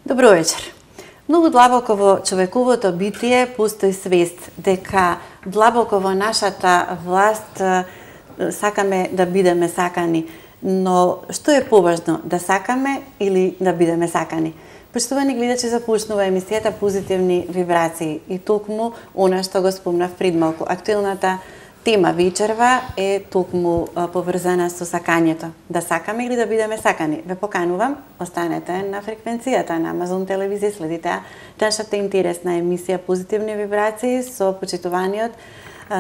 Добро вечер. Многу длабоко во човековото битие постои свест дека длабоко во нашата власт сакаме да бидеме сакани. Но што е поважно, да сакаме или да бидеме сакани? Почитувани гледачи, започнува емисијата Позитивни вибрации и токму она што го спомнав пред малку. Актуелната тема вечерва е токму поврзана со сакањето. Да сакаме или да бидеме сакани? Ве поканувам, останете на фреквенцијата на Амазон телевизија, следите нашата интересна емисија Позитивни вибрации со почитуваниот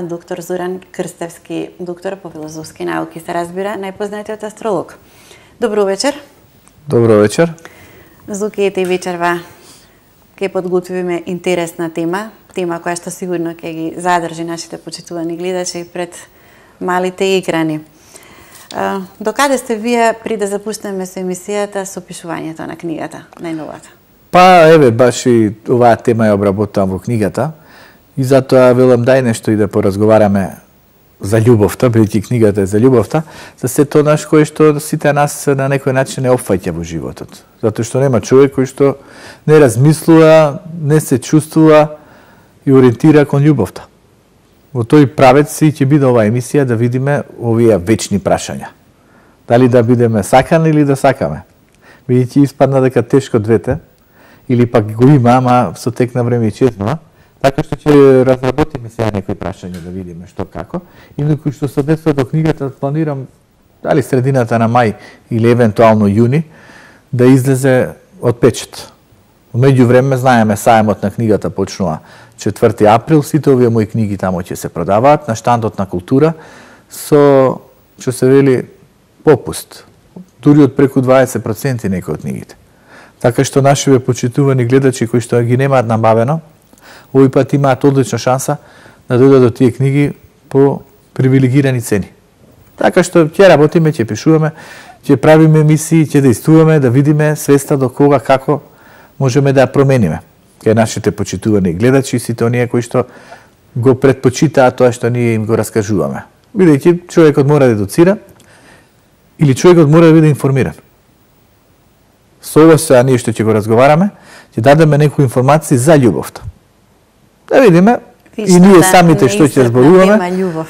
доктор Зоран Крстевски, доктор по филозофски науки, се разбира, најпознатиот астролог. Добро вечер. Добро вечер. Зукијете и вечерва ќе подготвиме интересна тема која што сигурно ќе ги задржи нашите почитувани гледачи пред малите екрани. Докаде сте вие при да запуштиме со емисијата со пишувањето на книгата, најновата? Па, еве, баш и оваа тема ја обработувам во книгата и затоа велам дај нешто и да поразговараме за љубовта, бидејќи книгата е за љубовта, за сето наш кој што сите нас на некој начин не опфаќа во животот. Затоа што нема човек кој што не размислува, не се чувствува и ориентира кон љубовта. Во тој правец и ќе биде оваа емисија да видиме овие вечни прашања. Дали да бидеме сакани или да сакаме? Бидејќи испадна дека тешко двете, или пак го има, ама со тек на време и чезнува. Така што ќе разработиме сега некои прашања да видиме што како. Инаку што со однесува до книгата планирам дали средината на мај или евентуално јуни да излезе од печат. Меѓу време знаеме саемот на книгата почнува 4 април, сите овие мои книги тамо ќе се продаваат на штандот на култура со што се вели попуст. Дури од преку 20% некои од книгите. Така што нашиве почитувани гледачи кои што ги немаат набавено, овој пат имаат одлична шанса да дојдат до тие книги по привилегирани цени. Така што ќе работиме, ќе пишуваме, ќе правиме емисии, ќе действуваме, да видиме свеста до кога, како можеме да ја промениме. Кај нашите почитувани гледачи и сите оние кои што го предпочитаат тоа што ние им го раскажуваме. Бидејќи човекот мора да едуцира или човекот мора да биде информиран. Со ова сега ние што ќе го разговараме, ќе дадеме некои информации за љубовта. Да видиме и ние самите што ќе зборуваме,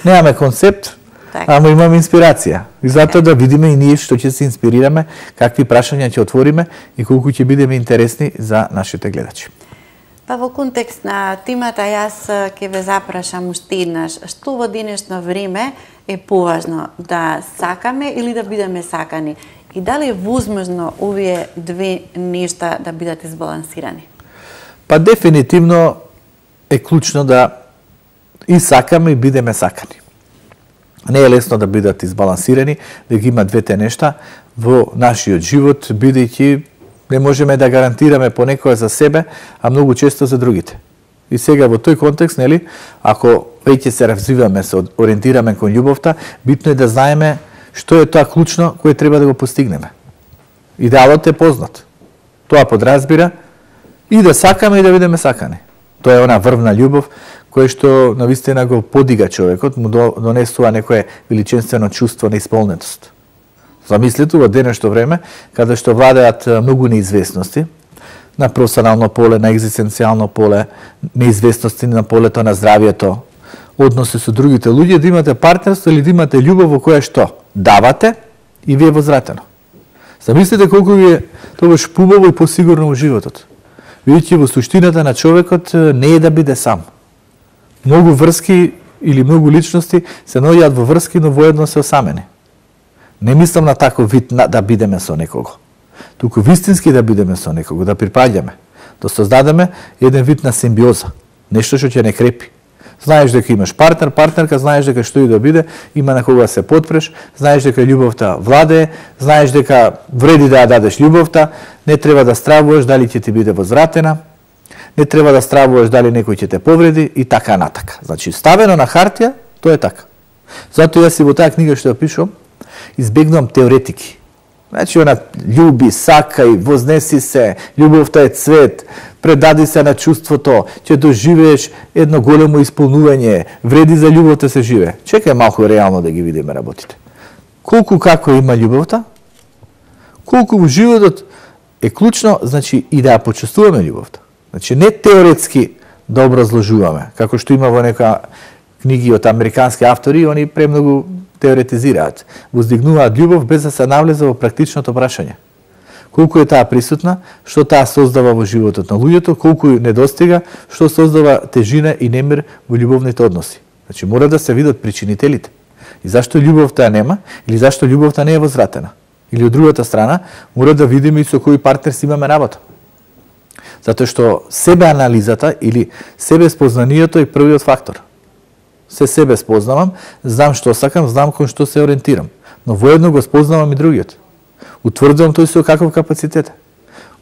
немаме концепт, ама имаме инспирација. И затоа да видиме и ние што ќе се инспирираме, какви прашања ќе отвориме и колку ќе бидеме интересни за нашите гледачи. Па во контекст на темата јас ќе ве запрашам уште еднаш, што во денешно време е поважно, да сакаме или да бидеме сакани? И дали е возможно овие две нешта да бидат избалансирани? Па дефинитивно е клучно да и сакаме и бидеме сакани. Не е лесно да бидат избалансирани, да ги има двете нешта во нашиот живот, бидејќи не можеме да гарантираме понекоја за себе, а многу често за другите. И сега во тој контекст, нели, ако веќе се развиваме, се ориентираме кон љубовта, битно е да знаеме што е тоа клучно кое треба да го постигнеме. Идеалот е познат. Тоа подразбира и да сакаме и да бидеме сакани. Тоа е она врвна љубов која што навистина го подига човекот, му донесува некое величинствено чувство на исполнетост. Замислете во денешно време, каде што владеат многу неизвестности, на професионално поле, на екзистенцијално поле, неизвестности на полето на здравието, односи со другите луѓе, да имате партнерство или да имате љубов во која што давате и ви е возвратено. Замислете колку ви е тогаш побаво и посигурно во животот. Видите, во суштината на човекот не е да биде сам. Многу врски или многу личности се наоѓаат во врски, но воедно се осамени. Не мислам на таков вид да бидеме со некого. Туку вистински да бидеме со некого, да припаѓаме, да создадеме еден вид на симбиоза, нешто што ќе не крепи. Знаеш дека имаш партнер, партнерка, знаеш дека што и да биде, има на кога се потпреш, знаеш дека љубовта владее, знаеш дека вреди да ја дадеш љубовта, не треба да стравуваш дали ќе ти биде возвратена, не треба да стравуваш дали некој ќе те повреди и така натака. Значи, ставено на хартија, тоа е така. Затоа јас и во таа книга што ја пишувам, избегнувам теоретики. Значи, она љуби, сакај, вознеси се, љубовта е цвет, предади се на чувството, ќе доживееш едно големо исполнување, вреди за љубовта се живее. Чекај малку реално да ги видиме работите. Колку како има љубовта, колку во животот е клучно, значи, и да ја почувствуваме љубовта. Значи, не теоретски да образложуваме, како што има во нека книги од американски автори, они премногу теоретизираат, воздигнуваат љубов без да се навлезе во практичното прашање. Колку е таа присутна, што таа создава во животот на луѓето, колку недостига, што создава тежина и немир во љубовните односи. Значи, мора да се видат причинителите. И зашто љубовта нема, или зашто љубовта не е возвратена. Или од другата страна, мора да видиме и со кој партнер си имаме работа. Затоа што себе анализата или себе спознанието е првиот фактор. Се себе спознавам, знам што сакам, знам кон што се ориентирам, но воедно го спознавам и другиот. Утврдувам тој со каков капацитет.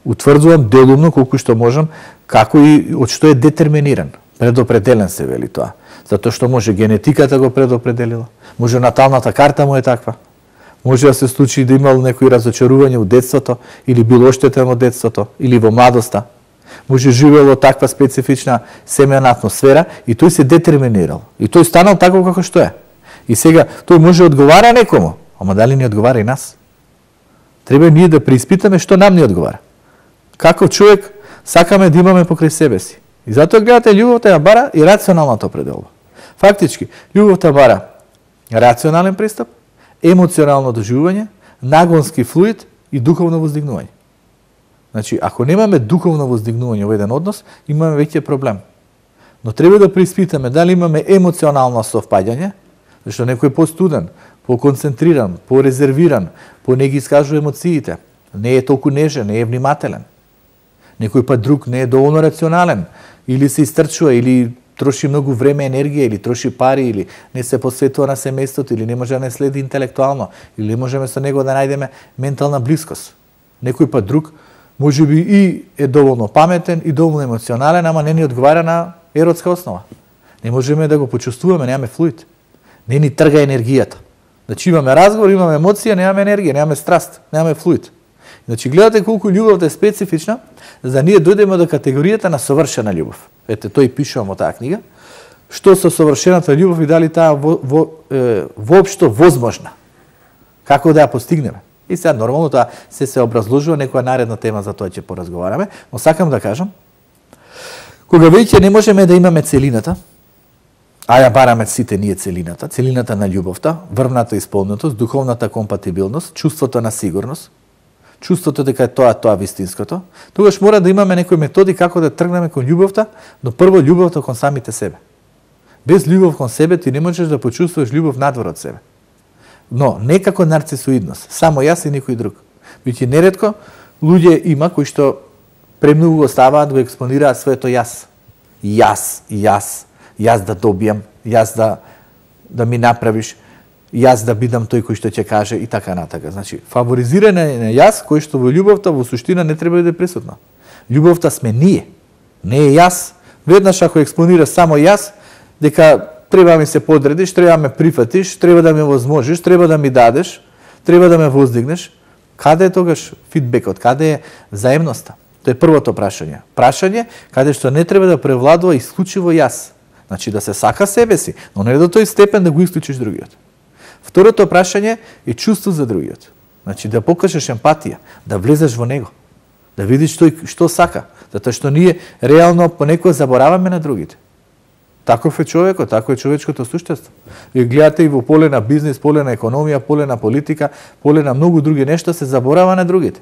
Утврдувам делумно колку што можам, како и од што е детерминиран, предопределен се вели тоа. Затоа што може генетиката го предопределила, може наталната карта му е таква. Може да се случи да имал некои разочарување во детството, или бил оштетен во детството, или во младоста. Може живеел во таква специфична семејна атмосфера и тој се детерминирал. И тој станал таков како што е. И сега тој може одговара некому, ама дали ни одговара и нас? Треба ние да преиспитаме што нам ни одговара. Каков човек сакаме да имаме покрај себе си. И затоа гледате, љубовта ја бара и рационалната определба. Фактички, љубовта бара рационален пристап, емоционално доживување, нагонски флуид и духовно воздигнување. Значи, ако немаме духовно воздигнување во еден однос, имаме веќе проблем. Но треба да преиспитаме дали имаме емоционално совпаѓање, зашто некој е постуден, поконцентриран, порезервиран, не ги искажува емоциите, не е толку нежен, не е внимателен. Некој пат друг не е доволно рационален, или се истрчува, или троши многу време, енергија, или троши пари, или не се посветува на семејството, или не може да не следи интелектуално, или не можеме со него да најдеме ментална блискост. Некој пат друг може би и е доволно паметен и доволно емоционален, ама не ни одговара на еротска основа. Не можеме да го почувствуваме, немаме флуид. Не ни трга енергијата. Значи имаме разговор, имаме емоција, немаме енергија, немаме страст, немаме флуид. Значи гледате колку љубовта е специфична, за да ние дојдеме до категоријата на совршена љубов. Ете, тој пишувам во таа книга. Што со совршената љубов и дали таа воопшто возможна? Како да ја постигнеме? И сега нормално тоа се образложува, некоја наредна тема за тоа ќе поразговараме, но сакам да кажам, кога веќе не можеме да имаме целината, а ја бараме сите ние целината на љубовта, врвната исполнетост, духовната компатибилност, чувството на сигурност, чувството дека е тоа вистинското, тогаш мора да имаме некои методи како да тргнеме кон љубовта, но прво љубовта кон самите себе. Без љубов кон себе ти не можеш да почувствуваш љубов надвор од себе. Но не како нарцисоидност, само јас и никој друг. Биќе неретко луѓе има кои што премногу го ставаат, го експонираат своето јас. Јас да добијам, јас да ми направиш, јас да бидам тој кој што ќе каже и така натака. Значи, фаворизирање на јас, кој што во љубовта во суштина не треба да е присутна. Љубовта сме ние, не е јас. Веднаш ако експонира само јас, дека треба ми се подредиш, треба ме прифатиш, треба да ми возможиш, треба да ми дадеш, треба да ме воздигнеш. Каде е тогаш фидбекот, каде е заемноста? Тоа е првото прашање. Прашање каде што не треба да превладува исклучиво јас. Значи да се сака себе си, но не до тој степен да го исклучиш другиот. Второто прашање е чувство за другиот. Значи да покажеш емпатија, да влезеш во него, да видиш тој што сака, затоа што ние реално понекогаш забораваме на другите. Таков е човекот, тако е човечкото суштество. И гледате и во поле на бизнис, поле на економија, поле на политика, поле на многу други нешта се заборава на другите.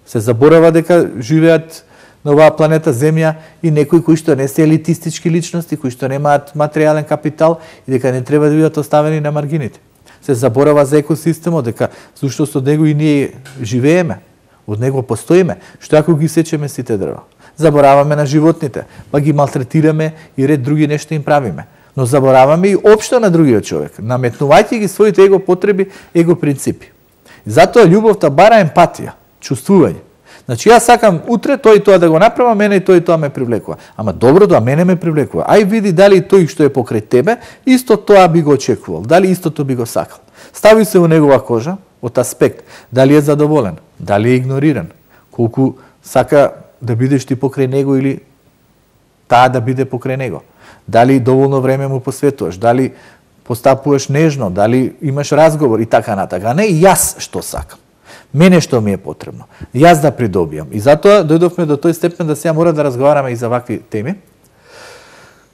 Се заборава дека живеат на оваа планета Земја и некои кои што не се елитистички личности, кои што немаат материјален капитал и дека не треба да бидат оставени на маргините. Се заборава за екосистемот, дека всушност од него и ние живееме, од него постоиме, што ако ги сечеме сите дрва. Забораваме на животните, па ги малтретираме и ред други нешта им правиме. Но забораваме и општо на другиот човек, наметнувајќи ги своите его потреби, его принципи. И затоа љубовта бара емпатија, чувствување. Значи јас сакам утре тој и тоа да го направам, мене и тој и тоа ме привлекува. Ама добро, тоа мене ме привлекува. Ај види дали тој што е покрај тебе, исто тоа би го очекувал, дали истото би го сакал. Стави се во негова кожа, од аспект, дали е задоволен, дали е игнориран, колку сака да бидеш ти покрај него или таа да биде покрај него. Дали доволно време му посветуваш, дали постапуваш нежно, дали имаш разговор и така натака. А не јас што сакам. Мене што ми е потребно. Јас да придобијам. И затоа дојдовме до тој степен да сега мора да разговараме и за вакви теми.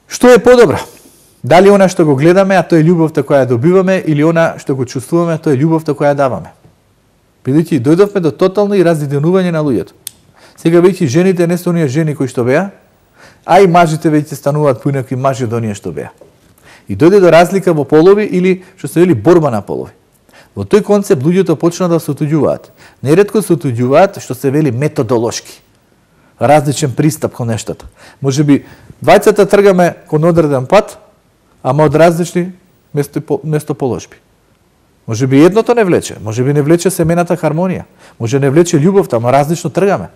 Што е подобро? Дали она што го гледаме, а тоа е љубовта која ја добиваме, или она што го чувствуваме, тоа е љубовта која ја даваме. Бидејќи дојдовме до тотално и разединување на луѓето. Сега веќе жените не се оние жени кои што беа, а и мажите веќе стануваат поинакви мажи од оние што беа. И дојде до разлика во полови или што се вели борба на полови. Во тој концепт луѓето почна да се отуѓуваат. Неретко се отуѓуваат што се вели методолошки. Различен пристап кон нештата. Можеби двајцата тргаме кон одреден пат, ама од различни местоположби. Можеби едното не влече, можеби не влече семената хармонија, може не влече љубовта, ама различно тргаме.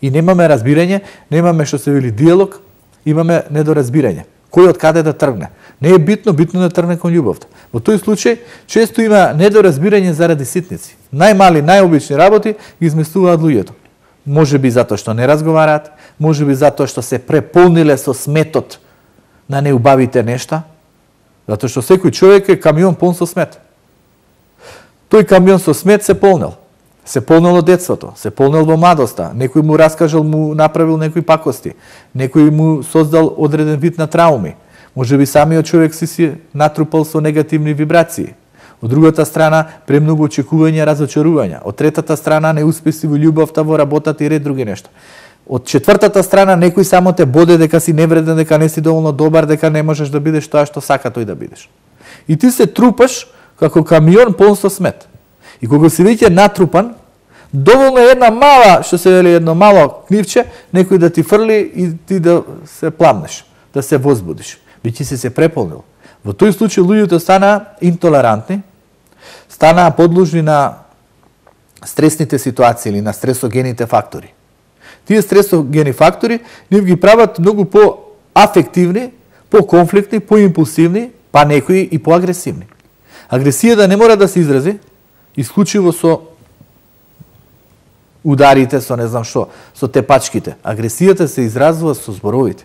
И немаме разбирање, немаме што се вели диалог, имаме недоразбирање. Кој од каде да тргне? Не е битно, битно да тргне кон љубовта. Во тој случај често има недоразбирање заради ситници. Најмали, најобични работи ги изместуваат луѓето. Можеби затоа што не разговараат, можеби затоа што се преполниле со сметот на неубавите нешта, затоа што секој човек е камион полн со смет. Тој камион со смет се полнел. Се полнел од детството, се полнел во младоста, некој му раскажал, му направил некои пакости, некој му создал одреден вид на трауми. Можеби самиот човек си натрупал со негативни вибрации. Од другата страна, премногу очекувања, разочарувања. Од третата страна, неуспеси во љубовта, во работата и ред други нешта. Од четвртата страна, некој само те боде дека си невреден, дека не си доволно добар, дека не можеш да бидеш тоа што сака тој да бидеш. И ти се трупаш како камион полн со смет. И кога си веќе натрупан, доволно е една мала, што се вели едно мало книвче, некој да ти фрли и ти да се пламнеш, да се возбудиш. Веќе си се преполнил. Во тој случај луѓето станаа интолерантни, станаа подложни на стресните ситуации или на стресогените фактори. Тие стресогени фактори нив ги прават многу по-афективни, по-конфликтни, по-импулсивни, па некои и по-агресивни. Агресијата не мора да се изрази исклучиво со ударите, со не знам што, со тепачките. Агресијата се изразува со зборовите.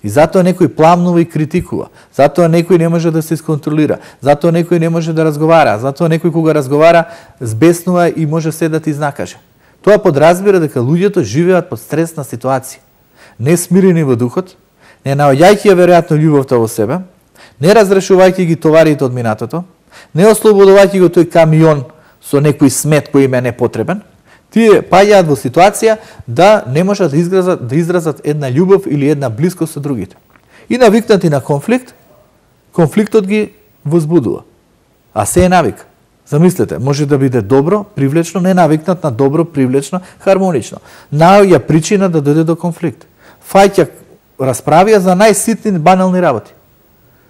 И затоа некој пламнува и критикува. Затоа некој не може да се исконтролира. Затоа некој не може да разговара. Затоа некој кога разговара збеснува и може се да ти изнакаже. Тоа подразбира дека луѓето живеат под стресна ситуација. Не смирени во духот, не наоѓајќи ја веројатно љубовта во себе, не разрешувајќи ги товарите од минатото, не ослободувајќи го тој камион со некој смет кој им е непотребен, тие паѓаат во ситуација да не можат да изразат една љубов или една блискост со другите. И навикнати на конфликт, конфликтот ги возбудува. А се е навик. Замислете, може да биде добро, привлечно, не навикнат на добро, привлечно, хармонично. Наоѓа причина да дојде до конфликт. Фаќа расправија за најситни банални работи.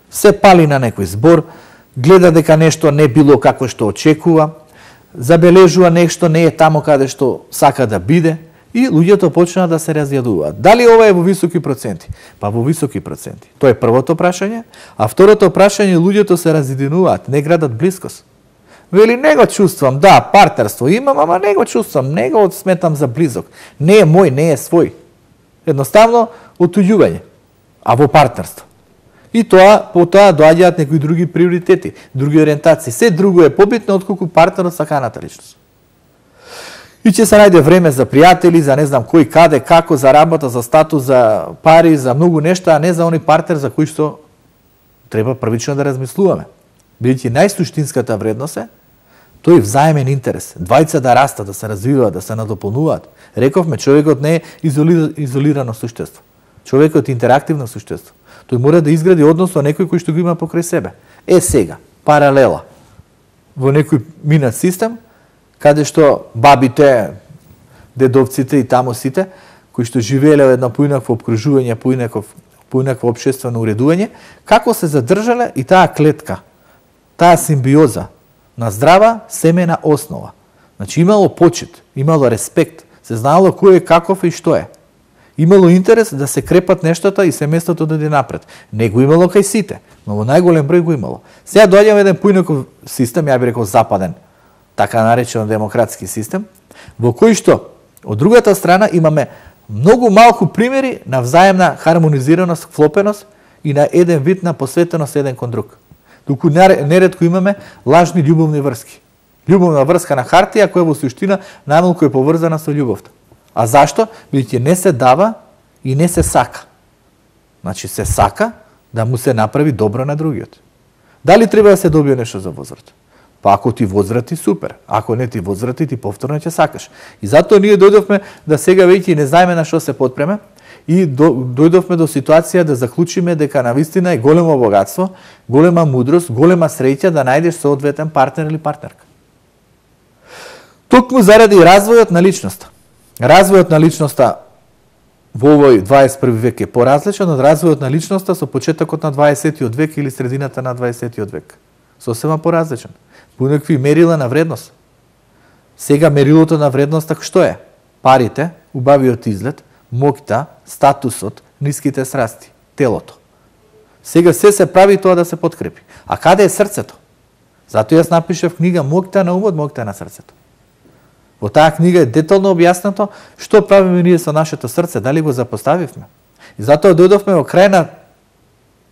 Се пали на некој збор, гледа дека нешто не било како што очекува, забележува нешто не е тамо каде што сака да биде и луѓето почнаа да се разјадуваат. Дали ова е во високи проценти? Па во високи проценти. Тоа е првото прашање, а второто прашање луѓето се разединуваат, не градат блискост. Вели, не го чувствам, да, партнерство имам, ама не го чувствам, не го сметам за близок. Не е мој, не е свој. Едноставно, отуѓување, а во партнерство. И потоа доаѓаат некои други приоритети, други ориентации. Се друго е побитно отколку партнерот саканата личност. И ќе се најде време за пријатели, за не знам кој, каде, како, за работа, за статус, за пари, за многу нешта, а не за оној партнер за кој што треба првично да размислуваме. Бидејќи најсуштинската вредност е тој взаемен интерес. Двајца да растат, да се развиваат, да се надополнуваат. Рековме, човекот не е изолирано суштество. Човекот е интерактивно суштество. Тој мора да изгради однос со некој кој што го има покрај себе. Е сега, паралела во некој минат систем, каде што бабите, дедовците и тамосите, кои што живееле во едно поинакво обкружување, поинакво општествено уредување, како се задржале и таа клетка, таа симбиоза на здрава семена основа. Значи имало почит, имало респект, се знаело кој е, каков и што е. Имало интерес да се крепат нештата и семејството да иде напред. Не го имало кај сите, но во најголем број го имало. Сега доаѓаме еден поинаков систем, ја би рекол западен, така наречен демократски систем, во кој што од другата страна имаме многу малку примери на взаемна хармонизираност, вклопеност и на еден вид на посветеност еден кон друг. Туку неретко имаме лажни љубовни врски. Љубовна врска на хартија која во суштина најмалку е поврзана со љубовта. А зашто? Бидејќи не се дава и не се сака. Значи се сака да му се направи добро на другиот. Дали треба да се добие нешто за возврат? Па ако ти возврати, супер. Ако не ти возврати, ти повторно ќе сакаш. И затоа ние дојдовме да сега веќе не знаеме на што се потпреме и дојдовме до ситуација да заклучиме дека навистина е големо богатство, голема мудрост, голема среќа да најдеш соодветен партнер или партнерка. Токму заради развојот на личноста. Развојот на личноста во овој 21 век е поразличен од развојот на личноста со почетокот на 20 век или средината на 20 век. Сосема поразличен. Понекви мерила на вредност. Сега мерилото на вредноста што е? Парите, убавиот изглед, моќта, статусот, ниските срасти, телото. Сега се прави тоа да се подкрепи. А каде е срцето? Затоа јас напишав книга Моќта на умот, моќта на срцето. Во таа книга е детално објаснато што правиме ние со нашето срце, дали го запоставивме. И затоа дојдовме во крајна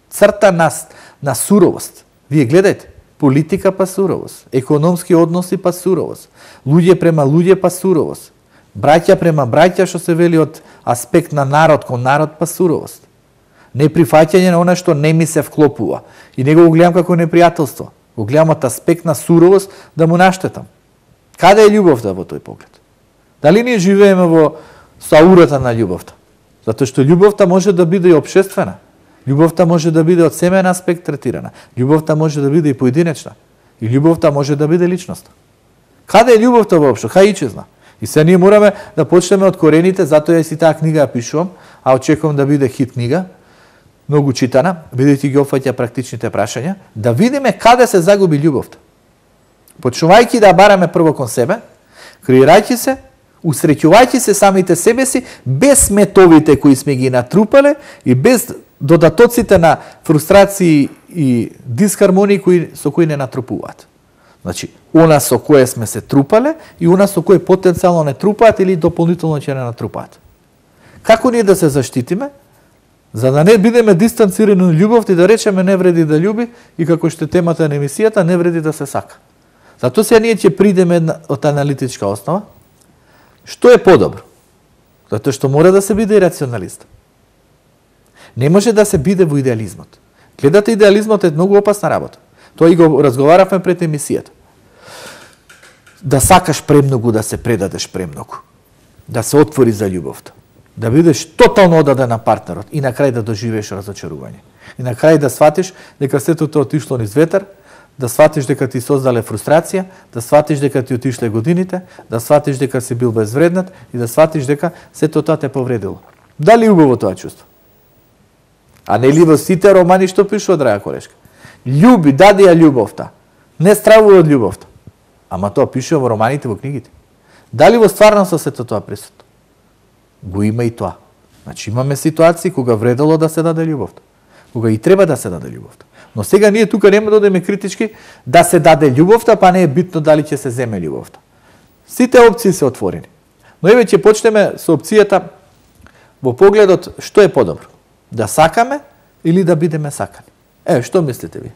црта на суровост. Вие гледајте, политика па суровост, економски односи па суровост, луѓе према луѓе па суровост, браќа према браќа што се вели од аспект на народ кон народ па суровост. Неприфаќање на она што не ми се вклопува. И него го гледам како непријателство. Го гледам од аспект на суровост да му наштетам. Каде е љубовта во тој поглед? Дали ние живееме во саурата на љубовта? Затоа што љубовта може да биде и општествена. Љубовта може да биде од семеен аспект третирана. Љубовта може да биде и поединечна. И љубовта може да биде личност. Каде е љубовта воопшто? Кај ичезна? И се ние мораме да почнеме од корените, затоа јас и таа книга ја пишувам, а очекувам да биде хит книга, многу читана, бидејќи ги опфаќа практичните прашања, да видиме каде се загуби љубовта. Почнувајќи да бараме прво кон себе, креирајќи се, усреќувајќи се самите себе си, без метовите кои сме ги натрупале и без додатоците на фрустрации и дисхармонии со кои не натрупуваат. Значи, она со кое сме се трупале и она со кое потенцијално не трупаат или дополнително ќе не натрупаат. Како ние да се заштитиме? За да не бидеме дистанцирани од љубовта и да речеме не вреди да љуби и како што темата на емисијата не вреди да се сака. Затоа сега ние ќе придеме од аналитичка основа. Што е подобро? Затоа што мора да се биде и рационалист. Не може да се биде во идеализмот. Гледате, идеализмот е многу опасна работа. Тоа и го разговаравме пред емисијата. Да сакаш премногу, да се предадеш премногу. Да се отвори за љубовта. Да бидеш тотално одаден на партнерот и на крај да доживееш разочарување. И на крај да сватиш дека сето тоа отишло низ ветер, да сватиш дека ти создале фрустрација, да сватиш дека ти отишле годините, да сватиш дека си бил безвреднат и да сватиш дека сето тоа те повредило. Дали убаво тоа чувство? А не ли во сите романи што пишува, драга колешка? Љуби, дади ја љубовта. Не стравува од љубовта. Ама тоа пишува во романите, во книгите. Дали во стварноста сето тоа присутно? Го има и тоа. Значи имаме ситуации кога вредало да се даде љубовта. Кога и треба да се даде љубовта. Но сега ние тука нема да одеме критички да се даде љубовта, па не е битно дали ќе се земе љубовта. Сите опции се отворени. Но еве ќе почнеме со опцијата во погледот што е подобро. Да сакаме или да бидеме сакани. Што мислите ви?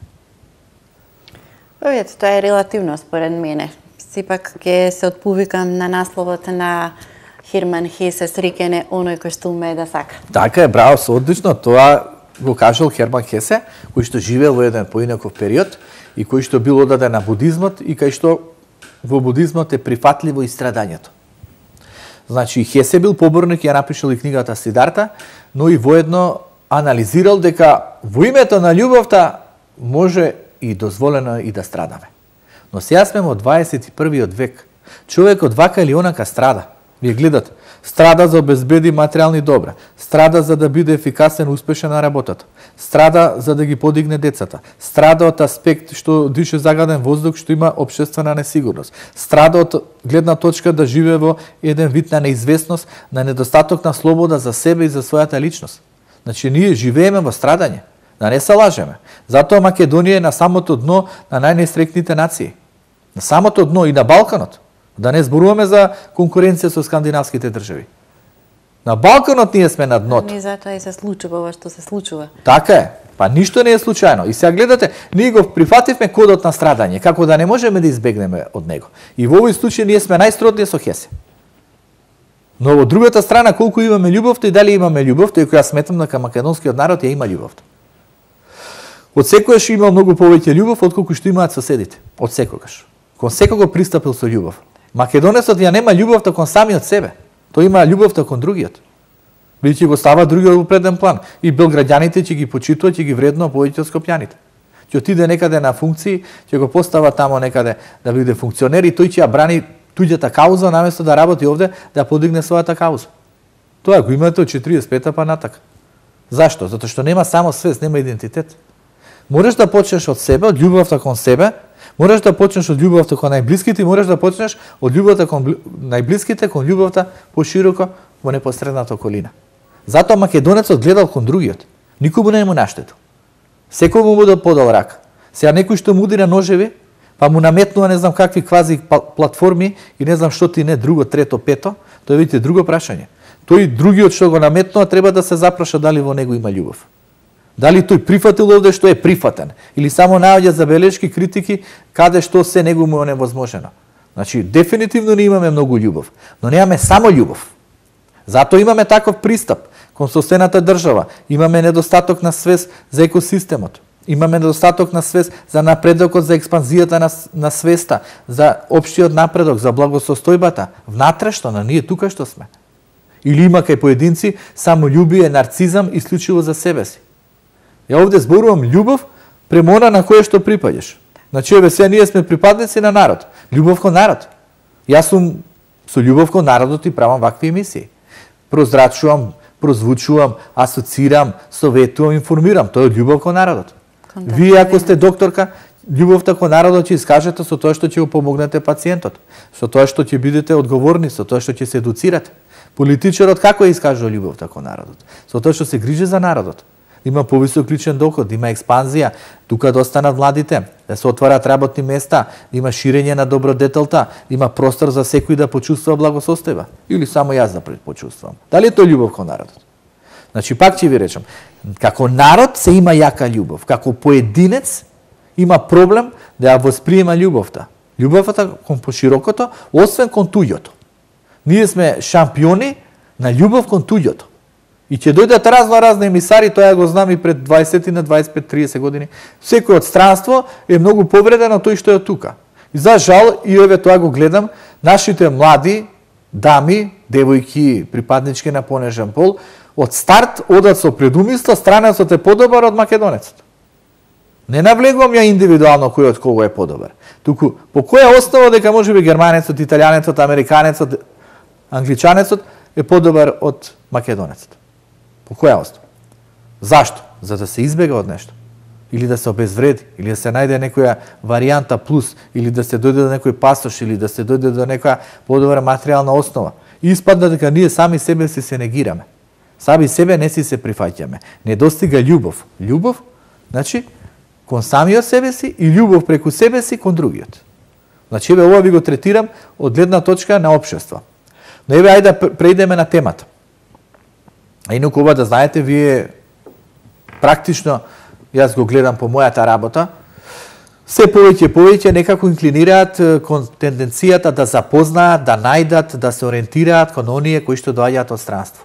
Тоа е релативно според мене. Сепак ќе се отповикам на насловот на Херман Хесе, среќен е оној кој што умее да сака. Така е, браво, со одлично. Тоа го кажал Херман Хесе, кој што живеел во еден поинаков период и кој што бил одаден на будизмот и кај што во будизмот е прифатливо и страдањето. Значи, Хесе бил поборник и ја напишал и книгата Сидарта, но и воедно анализирал дека во името на љубовта може и дозволено и да страдаме. Но сега сме во 21 век. Човекот вака или онака страда. Вие гледате, страда за обезбеди материјални добра, страда за да биде ефикасен, успешен на работата, страда за да ги подигне децата, страда од аспект што дише загаден воздух, што има општествена несигурност, страда од гледна точка да живее во еден вид на неизвестност, на недостаток на слобода за себе и за својата личност. Значи, ние живееме во страдање, да не се лажеме. Затоа Македонија е на самото дно на најнестрекните нации. На самото дно и на Балканот. Да не зборуваме за конкуренција со скандинавските држави. На Балканот ние сме на дното. И затоа и се случува ова што се случува. Така е. Па ништо не е случајно. И сега гледате, ние го прифативме кодот на страдање, како да не можеме да избегнеме од него. И во овој случај ние сме најсродни со Хесе. Но во другата страна, колку имаме љубовта и дали имаме љубовта, и која сметам дека македонскиот народ ја има љубовта. Од секогаш имал многу повеќе љубов отколку што имаат соседите. Од секогаш. Кон секого пристапил со љубов. Македонецот ја нема љубовта кон самиот себе. Тој има љубовта кон другиот. Бидејќи го става другиот во преден план. И белграѓаните ќе ги почитуваат, ќе ги вреднуваат повеќе од скопјаните. Ќе отиде некаде на функции, ќе го постава тамо некаде да биде функционер и тој ќе ја брани туѓата кауза наместо да работи овде да подигне својата кауза. Тоа го имате од 45-та па натака. Зашто? Затоа што нема само свест, нема идентитет. Можеш да почнеш од себе, од љубовта кон себе, можеш да почнеш од љубовта кон најблиските и можеш да почнеш од љубовта кон најблиските, кон љубовта пошироко во непосредната околина. Затоа македонецот гледал кон другиот. Никому не му наштетил. Секој му да подал рак. Сега некој што му удира ножеви, па му наметнува не знам какви квази платформи и не знам што ти не, друго, трето, пето, тоа е видите друго прашање. Тој другиот што го наметнува треба да се запраша дали во него има љубов. Дали тој прифатил овде што е прифатен или само наоѓа забелешки, критики каде што се него му е невозможено. Значи дефинитивно не имаме многу љубов, но немаме само љубов. Затоа имаме таков пристап кон соседната држава, имаме недостаток на свест за екосистемот. Имаме недостаток на свест за напредокот, за експанзијата на свеста, за општиот напредок, за благосостојбата, внатрешно, на ние тука што сме. Или има кај поединци само љубие, нарцизам, исклучиво за себе си. Ја овде зборувам љубов према она на кое што припаѓаш. Значи, еве сега ние сме припадници на народ. Љубов кон народ. Јас сум со љубов кон народот и правам вакви емисии. Прозрачувам, прозвучувам, асоцирам, советувам, информирам. Тоа е љубов кон народот. Вие, ако сте докторка, љубовта кон народот ќе искажете со тоа што ќе го помогнете пациентот, со тоа што ќе бидете одговорни, со тоа што ќе се едуцирате. Политичарот како ја искажува љубовта кон народот? Со тоа што се грижи за народот. Има повисок личен доход, има експанзија, тука да останат младите, да се отварат работни места, да има ширење на добродетелта, да има простор за секој да почувствува благосостојба. Или само јас да почувствувам. Дали е тоа љубов кон народот? Значи, пак ќе ви речам, како народ се има јака љубов, како поединец има проблем да ја восприема љубовта. Љубовта кон поширокото, освен кон туѓото. Ние сме шампиони на љубов кон туѓото. И ќе дојдат разни емисари, тоа го знам и пред 20 на 25-30 години. Секој од странство е многу повредено тој што е тука. И за жал, и еве тоа го гледам, нашите млади дами, девојки, припаднички на понежен пол, од старт одат со предумисла, странецот е подобар од македонецот. Не навлегувам ја индивидуално кој од кого е подобар. Туку, по која основа дека можеби германецот, италијанецот, американецот, англичанецот е подобар од македонецот? По која основа? Зашто? За да се избега од нешто. Или да се обезвреди, или да се најде некоја варијанта плюс, или да се дојде до некој пасош, или да се дојде до некоја подобра материјална основа. И испадна дека ние сами себе си се негираме. Сами себе не си се прифаќаме. Не достига љубов. Љубов, значи, кон самиот себе си и љубов преку себе си кон другиот. Значи, еве ова ви го третирам од гледна точка на општество. Но еве, ајде да преидеме на темата. А инаку ова да знаете, вие практично, јас го гледам по мојата работа, се повеќе некако инклинираат кон тенденцијата да запознаат, да најдат, да се ориентираат кон оние кои што доаѓаат од странство.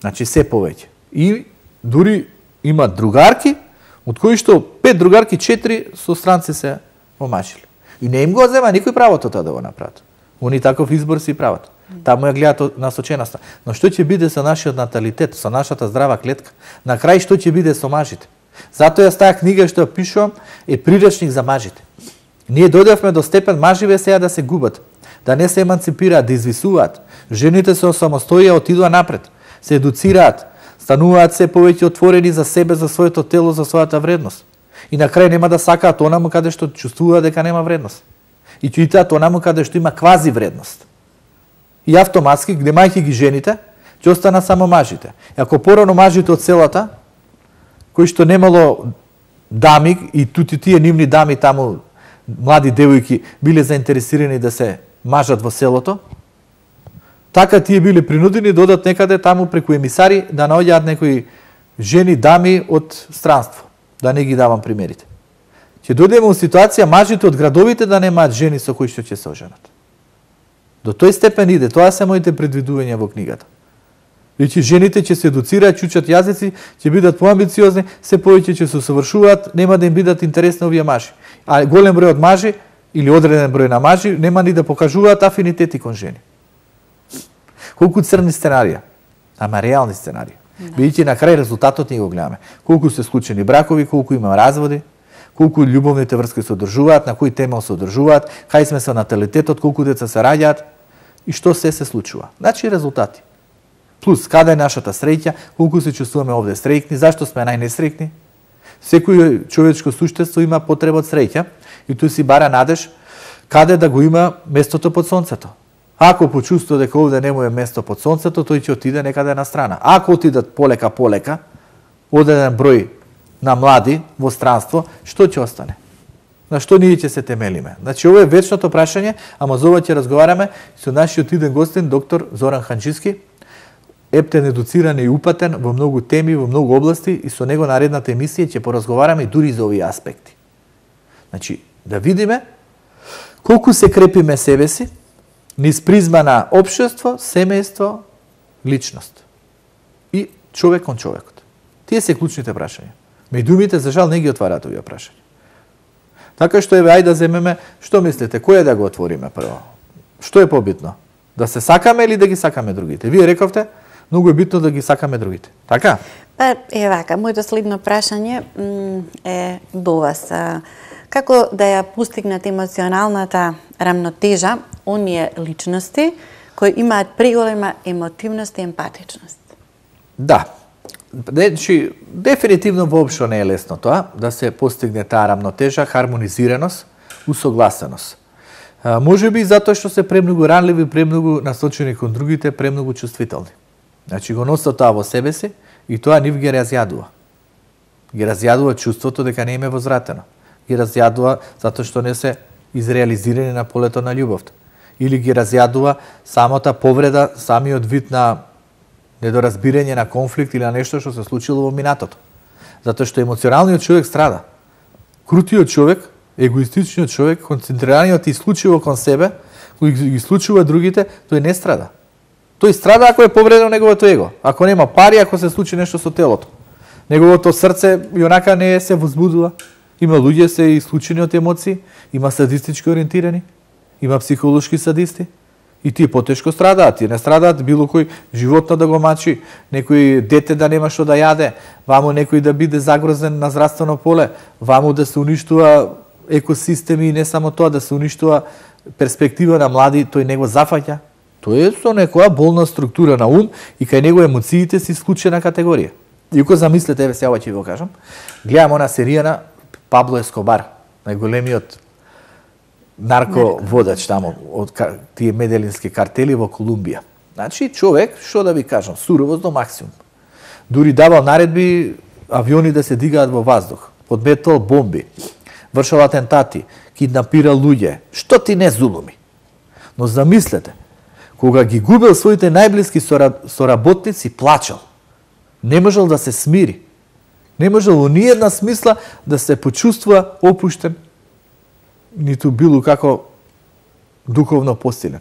Значи, се повеќе. И дури има другарки, од кои што 5 другарки, 4 со странци се омашили. И не им го зема никој правото тоа да го направат. Они таков избор си прават. Таму ја гледаат насоченоста. Но што ќе биде со нашиот наталитет, со нашата здрава клетка? На крај што ќе биде со мажите? Затоа јас таа книга што ја пишувам е приречник за мажите. Ние дојдовме до степен маживе сега да се губат, да не се еманципираат, да извисуваат. Жените се осамостоија, отидоа напред, се едуцираат, стануваат се повеќе отворени за себе, за своето тело, за својата вредност. И на крај нема да сакаат онаму каде што чувствуваат дека нема вредност. И ќе итаат онаму каде што има квази вредност. И автоматски, глемајќи ги жените, ќе остана само мажите. И ако порано мажите од селата, кои што немало дами, и тути тие нивни дами таму, млади девојки, биле заинтересирани да се мажат во селото, така тие биле принудени да одат некаде таму преку емисари да наоѓаат некои жени, дами од странство. да не ги давам примерите. Ќе дојдеме во ситуација мажите од градовите да немаат жени со кои што ќе се оженат. До тој степен иде, тоа се моите предвидувања во книгата. Значи жените ќе се едуцираат, ќе учат јазици, ќе бидат поамбициозни, се повеќе ќе се усовршуваат, нема да им бидат интересни овие мажи. А голем број од мажи или одреден број на мажи нема ни да покажуваат афинитети кон жени. Колку црни сценарија, ама реални сценарија. Бидејќи на крај резултатот ни го гледаме. Колку се склучени бракови, колку има разводи, колку љубовните врски се одржуваат, на кој темел се одржуваат, кај сме со наталитетот, колку деца се раѓаат и што се случува. Значи резултати. Плюс, каде е нашата среќа, колку се чувствуваме овде среќни, зашто сме најнесреќни? Секој човечко суштество има потреба од среќа и тој си бара надеж каде да го има местото под сонцето. Ако почувствува дека овде не му е место под сонцето, тој ќе отиде некаде на страна. Ако отидат полека, одреден број на млади во странство, што ќе остане? На што ние ќе се темелиме? Значи, ова е вечното прашање, ама за ова ќе разговараме со нашиот иден гостин, доктор Зоран Ханџиски, ептен, едуциран и упатен во многу теми, во многу области и со него наредната емисија ќе поразговараме и дури за овие аспекти. Значи, да видиме колку се крепиме себе си низ призма на општество, семејство, личност и човек кон човекот. Тие се клучните прашања. Медиумите, за жал, не ги отвараат овие прашања. Така што еве, ајде да земеме, што мислите, кој е да го отвориме прво? Што е побитно? Да се сакаме или да ги сакаме другите? Вие рековте, многу е битно да ги сакаме другите. Така? Па, вака, моето следно прашање е до вас. Како да ја постигнат емоционалната рамнотежа оние личности кои имаат преголема емотивност и емпатичност? Да. Значи, дефинитивно воопшто не е лесно тоа, да се постигне таа рамнотежа, хармонизираност, усогласеност. Може би затоа што се премногу ранливи, премногу насочени кон другите, премногу чувствителни. Значи, го носат тоа во себе си и тоа нив ги разјадува. Ги разјадува чувството дека не им е возвратено. Ги разјадува затоа што не се изреализирани на полето на љубовта. Или ги разјадува самата повреда, самиот вид на недоразбирање, на конфликт или на нешто што се случило во минатото. Затоа што емоционалниот човек страда. Крутиот човек, егоистичниот човек, концентрираниот исклучиво кон себе, кој ги исклучува другите, тој не страда. Тој страда ако е повредено неговото его. Ако нема пари, ако се случи нешто со телото. Неговото срце и онака не се возбудува. Има луѓе се исклучени од емоции, има садистички ориентирани, има психолошки садисти. И тие потешко страдаат, тие не страдаат било кој животно да го мачи, некој дете да нема што да јаде, ваму некој да биде загрозен на здравствено поле, ваму да се уништува екосистеми и не само тоа, да се уништува перспектива на млади, тој не го зафаќа. Тој е со некоја болна структура на ум и кај него емоциите се исклучена категорија. И ако замислете, еве сега ќе ви го кажам, гледам она серија на Пабло Ескобар, најголемиот нарководач таму од тие меделински картели во Колумбија. Значи, човек, што да ви кажам, суровост до максимум. Дури давал наредби авиони да се дигаат во воздух, подметал бомби, вршал атентати, киднапирал луѓе. Што ти не зулуми? Но замислете, кога ги губел своите најблиски соработници, плачал. Не можел да се смири. Не можел во ниедна смисла да се почувствува опуштен, ниту било како духовно посилен.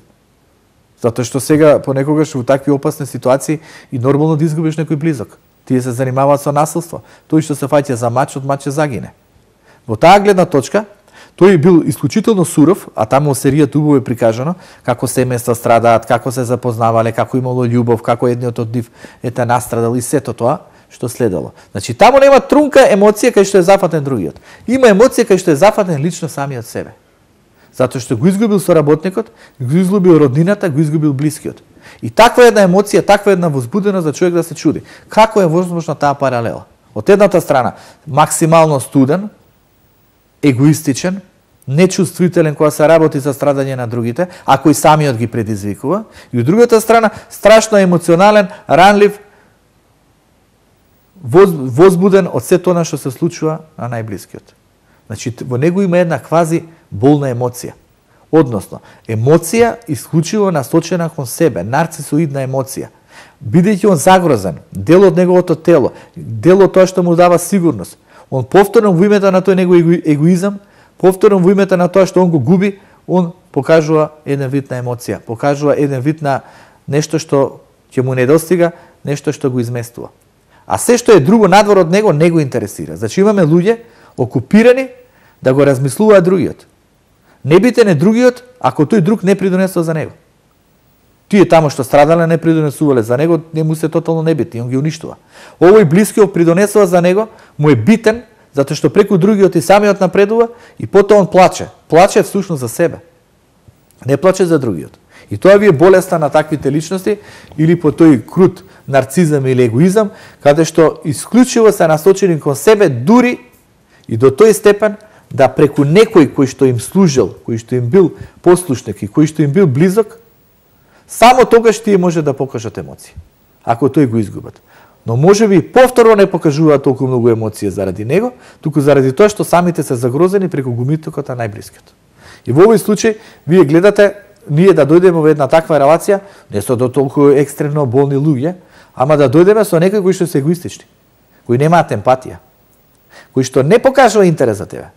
Затоа што сега понекогаш во такви опасни ситуации и нормално да изгубиш некој близок. Тие се занимаваат со насилство. Тој што се фаќа за мач, од мач загине. Во таа гледна точка, тој бил исклучително суров, а таму во серијата убаво е прикажано како семејства страдаат, како се запознавале, како имало љубов, како едниот од нив настрадал и сето тоа што следало. Значи, таму нема трунка емоција кај што е зафатен другиот. Има емоција кај што е зафатен лично самиот себе. Затоа што го изгубил соработникот, го изгубил роднината, го изгубил блискиот. И таква една емоција, таква една возбуденост за човек да се чуди. Како е возможна таа паралела? Од едната страна, максимално студен, егоистичен, нечувствителен кога се работи за страдање на другите, а кој самиот ги предизвикува, и од другата страна, страшно емоционален, ранлив, возбуден од се тоа што се случува на најблискиот. Значи, во него има една квази болна емоција. Односно, емоција исклучиво насочена кон себе, нарцисоидна емоција. Бидејќи он загрозен, дел од неговото тело, дел од тоа што му дава сигурност, Он повторно во името на тој негов егоизам, повторно во името на тоа што он го губи, он покажува еден вид на емоција, покажува еден вид на нешто што ќе му недостига, нешто што го изместува. А се што е друго надвор од него не го интересира. Значи имаме луѓе окупирани да го размислуваат другиот. Небитен е другиот ако тој друг не придонесува за него. Тие тамо што страдале не придонесувале за него, не му се тотално небитни, он ги уништува. Овој блискиот придонесува за него, му е битен, затоа што преку другиот и самиот напредува и потоа он плаче. Плаче всушност за себе. Не плаче за другиот. И тоа ви е болеста на таквите личности или по тој крут нарцизам или егоизам, каде што исклучиво се насочени кон себе, дури и до тој степен да преку некој кој што им служил, кој што им бил послушник и кој што им бил близок, само тогаш тие може да покажат емоции, ако тој го изгубат. Но може би повторно не покажуваат толку многу емоции заради него, туку заради тоа што самите се загрозени преку гумитокот на најблискиот. И во овој случај, вие гледате, ние да дојдеме во една таква релација, не со до толку екстремно болни луѓе, ама да дојдеме со некои кои што се егоистични, кои немаат емпатија, кои што не покажува интерес за тебе,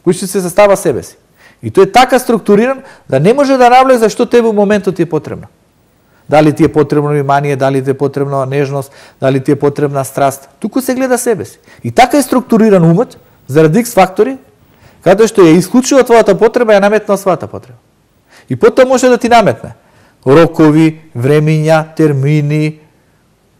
кои што се застава себе си. И тој е така структуриран да не може да навлезе што тебе во моментот ти е потребно. Дали ти е потребно внимание, дали ти е потребна нежност, дали ти е потребна страст. Туку се гледа себе си. И така е структуриран умот, заради X фактори, каде што ја исклучува твојата потреба, ја наметна својата потреба. И потоа може да ти наметне рокови, времиња, термини,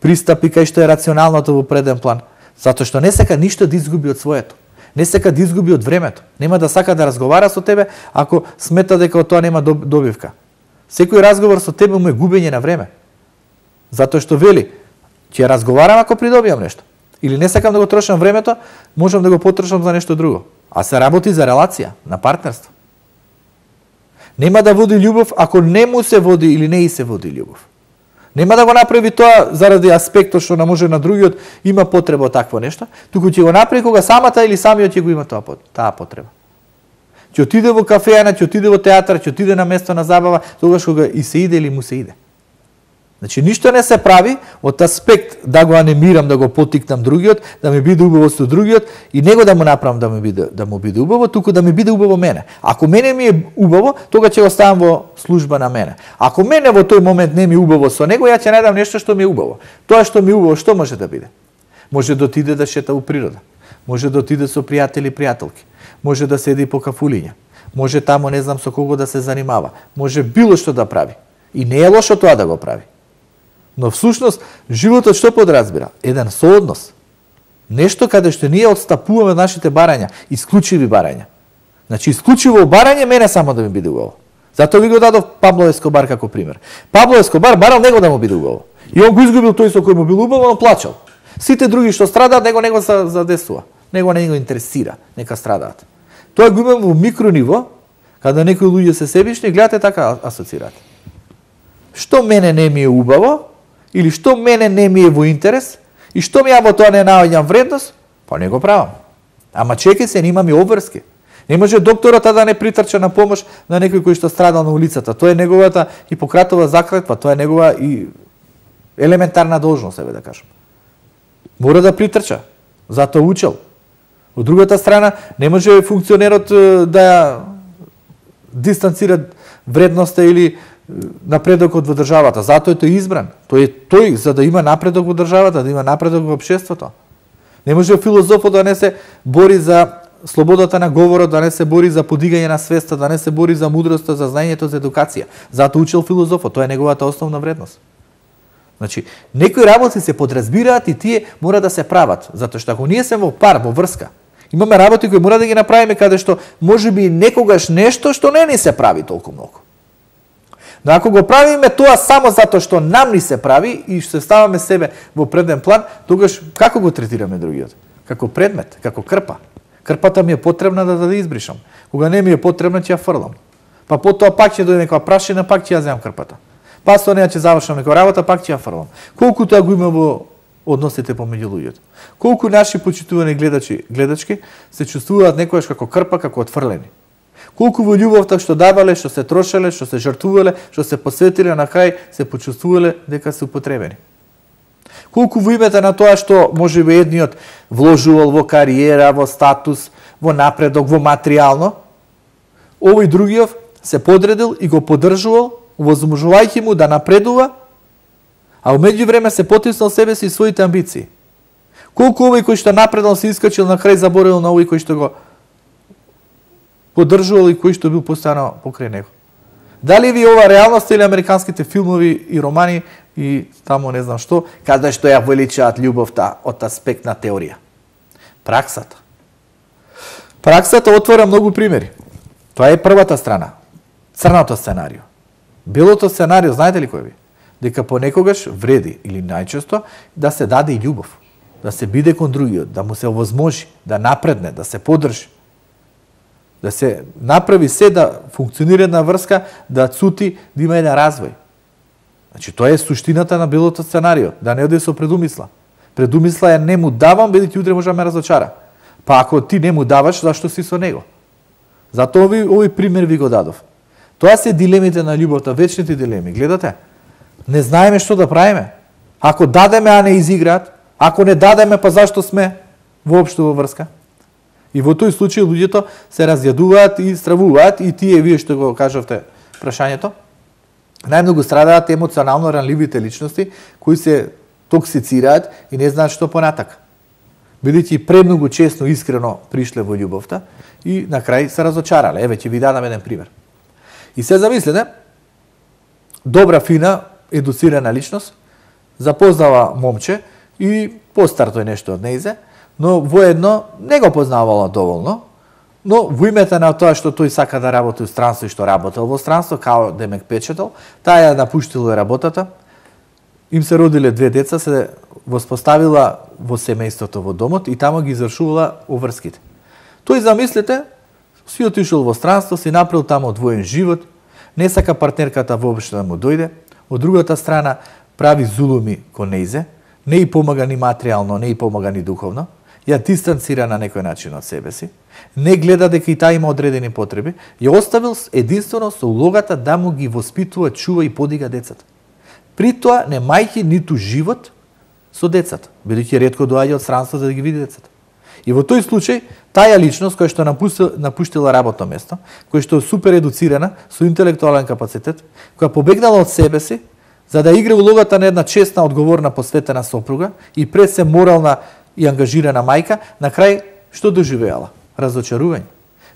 пристапи кај што е рационалното во преден план. Затоа што не сака ништо да изгуби од своето. Не сака да изгуби од времето. Нема да сака да разговара со тебе ако смета дека од тоа нема добивка. Секој разговор со тебе му е губење на време. Затоа што вели, ќе разговарам ако придобиам нешто. Или не сакам да го трошам времето, можам да го потрошам за нешто друго. А се работи за релација, на партнерство. Нема да води љубов ако не му се води или не и се води љубов. Нема да го направи тоа заради аспектот што не може на другиот има потреба од такво нешто, туку ќе го направи кога самата или самиот ќе го има таа потреба. Ќе отиде во кафејана, ќе отиде во театар, ќе отиде на место на забава, тогаш кога и се иде или му се иде. Значи ништо не се прави од аспект да го анимирам, да го потикнам другиот, да ми биде убаво со другиот и него да му направам да му биде убаво, туку да ми биде убаво мене. Ако мене ми е убаво, тога ќе го ставам во служба на мене. Ако мене во тој момент не ми е убаво со него, ја ќе најдам нешто што ми е убаво. Тоа што ми е убаво, што може да биде? Може да отиде да шета во природа. Може да отиде со пријатели и пријателки. Може да седи по кафулиња. Може тамо не знам со кого да се занимава. Може било што да прави. И не е лошо тоа да го прави. Но всушност животот што подразбира? Еден сооднос. Нешто каде што ние отстапуваме нашите барања, исклучиви барања. Значи исклучиво барање мене само да ми биде убаво. Затоа ви го дадов Пабло Ескобар како пример. Пабло Ескобар барал него да му биде убаво. И он го изгубил тој со кој му бил убаво, он плачал. Сите други што страдаат, него се задесува. Него не го интересира, нека страдаат. Тоа го имам во микрониво, каде некои луѓе се себични, гледате така асоцирате. Што мене не ми е убаво, или што мене не ми е во интерес, и што ми ја во тоа не наоѓам вредност, па не го правам. Ама чекај се, имам и обврски. Не може докторот да не притрча на помош на некој кој што страдал на улицата. Тоа е неговата Хипократова заклетва, тоа е негова и елементарна должност, себе да кажам. Мора да притрча, затоа учел. Од другата страна, не може функционерот да дистанцира вредноста или напредокот во државата. Затоа е тој избран. Тој за да има напредок во државата, да има напредок во општеството. Не може филозофот да не се бори за слободата на говорот, да не се бори за подигање на свеста, да не се бори за мудроста, за знаењето, за едукација. Затоа учел филозофот, тоа е неговата основна вредност. Значи, некои работи се подразбираат и тие мора да се прават, затоа што ако ние се во пар, во врска, имаме работи кои мора да ги направиме каде што можеби некогаш нешто што не ни се прави толку многу. Но ако го правиме тоа само затоа што нам ни се прави и што се ставаме себе во преден план, тогаш како го третираме другиот? Како предмет, како крпа. Крпата ми е потребна да избришам. Кога не ми е потребна, ќе ја фрлам. Па потоа пак ќе дојде некоја прашина, пак ќе ја земам крпата. Па со неја ќе завршам некоја работа, пак ќе ја фрлам. Колку тоа го има во односите помеѓу луѓето? Колку наши почитувани гледачки се чувствуваат некојаш како крпа, како отфрлени? Колку во љубовта што давале, што се трошеле, што се жртвувале, што се посветиле, на крај се почувствувале дека се употребени? Колку во името на тоа што може би едниот вложувал во кариера, во статус, во напредок, во материјално, овој другиот се подредил и го поддржувал, овозможувајќи му да напредува, а во меѓувреме се потиснал себе си и своите амбиции. Колку овој кој што напредал се искачил на крај заборавил на овој кој што го поддржувал и кој што бил постојано покрај него. Дали ви ова реалност или американските филмови и романи и тамо не знам што, каде што ја величаат љубовта од аспект на теорија. Праксата. Праксата отвора многу примери. Тоа е првата страна. Црното сценарио. Белото сценарио, знаете ли кој ви? Дека понекогаш вреди или најчесто да се даде и љубов, да се биде кон другиот, да му се овозможи, да напредне, да се поддржи, да се направи се да функционира една врска, да цути, да има еден развој. Значи тоа е суштината на белото сценарио, да не оде со предумисла. Предумисла е не му давам, бидејќи утре може да ме разочара. Па ако ти не му даваш, зашто си со него? Затоа овој пример ви го дадов. Тоа се дилемите на љубовта, вечните дилеми. Гледате? Не знаеме што да правиме. Ако дадеме, а не изиграат, ако не дадеме, па зашто сме воопшто во врска? И во тој случај луѓето се разјадуваат и стравуваат и тие, вие што го кажавте прашањето, најмногу страдаат емоционално ранливите личности кои се токсицираат и не знаат што понатака. Бидејќи премногу честно искрено пришле во љубовта и на крај се разочарале. Еве ќе ви дадам еден пример. И се замислете, добра, фина, едуцирана личност, запознава момче и постар тој нешто од нејзе, но воедно не го познавала доволно, но во името на тоа што тој сака да работи во странство и што работел во странство, као демек печател, таа ја напуштила работата, им се родиле две деца, се воспоставила во семејството во домот и тамо ги извршувала обврските. Тој, замислете, си отишол во странство, си направил тамо двоен живот, не сака партнерката воопшто да му дојде, од другата страна прави зулуми кон нејзе, не и помага ни материјално, не и помага ни духовно, ја дистанцира на некој начин од себе си, не гледа дека и таа има одредени потреби, ја оставил единствено со улогата да му ги воспитува, чува и подига децата. При тоа немајќи ниту живот со децата, бидејќи ретко доаѓа од странство за да ги види децата. И во тој случај, таа личност која што напуштила работно место, која што е супер едуцирана, со интелектуален капацитет, која побегнала од себе си, за да игра улогата на една честна, одговорна, посветена сопруга и пред се морална и ангажирана мајка, на крај што доживеала? Разочарување.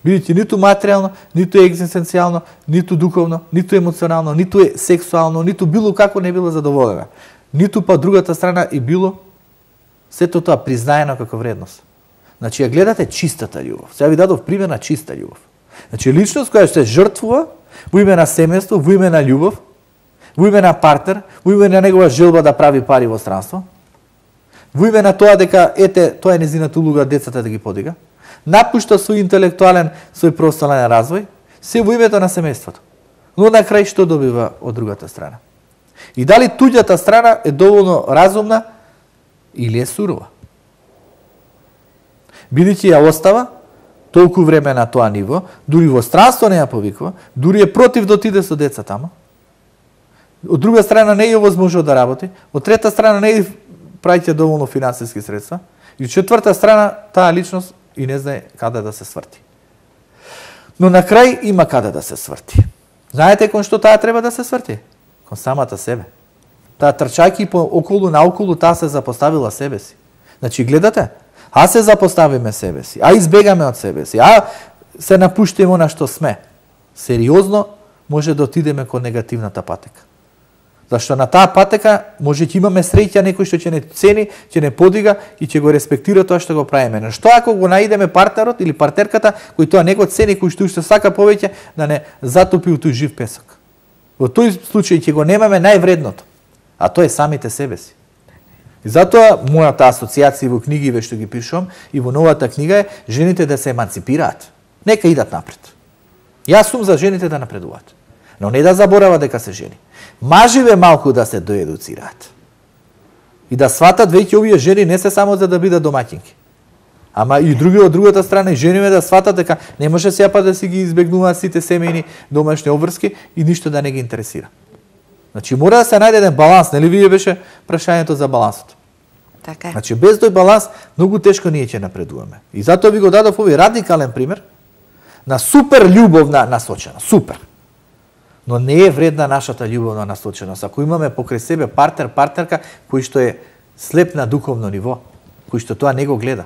Бидејќи ниту материјално, ниту екзистенцијално, ниту духовно, ниту емоционално, ниту сексуално, ниту било како не била задоволена. Ниту па другата страна и било сето тоа признаено како вредност. Значи, ја гледате чистата љубов. Сега ви дадов пример на чиста ljubов. Значи, личност која се жртвува во име на семејство, во име на љубов, во име на партнер, во име на негова желба да прави пари во странство, во име на тоа дека, ете, тоа е незината улога децата да ги подига, напушта свој интелектуален, свој професионален развој, се во името на семејството. Но на крај што добива од другата страна? И дали туѓата страна е доволно разумна или е сурова? Бидејќи ја остава толку време на тоа ниво, дури во странство не ја повикува, дури е против да отиде со деца тамо. Од друга страна не ја овозможува да работи, од трета страна не ја праќа доволно финансиски средства, и од четврта страна таа личност и не знае каде да се сврти. Но на крај има каде да се сврти. Знаете кон што таа треба да се сврти? Кон самата себе. Таа трчајќи по околу наоколу, таа се запоставила себе си. Значи, гледате, а се запоставиме себе си, а избегаме од себе си, а се напуштиме на што сме, сериозно може да отидеме кон негативната патека. Зашто на таа патека може ќе имаме среќа некој што ќе не цени, ќе не подига и ќе го респектира тоа што го правиме. Но што ако го наидеме партнерот или партерката кој тоа не го цени, кој што уште сака повеќе да не затопи у тој жив песок? Во тој случај ќе го немаме највредното, а тоа е самите себе си. И затоа мојата асоциација во книгиве што ги пишувам и во новата книга е жените да се еманципираат. Нека идат напред. Јас сум за жените да напредуваат, но не да заборават дека се жени. Маживе малку да се доедуцираат. И да сватат веќе овие жени не се само за да бидат домаќинки. Ама и други од другата страна и жениве да сватат дека не може сеапа да си ги избегнуваат сите семејни домашни обврски и ништо да не ги интересира. Значи мора да се најде еден баланс, нели вие беше прашањето за балансот. Така е. Значи без тој баланс многу тешко ние ќе напредуваме. И затоа ви го дадов овој радикален пример на супер љубовна насоченост. Супер. Но не е вредна нашата љубовна насоченост. Ако имаме покрај себе партнер, партнерка кој што е слеп на духовно ниво, кој што тоа не го гледа.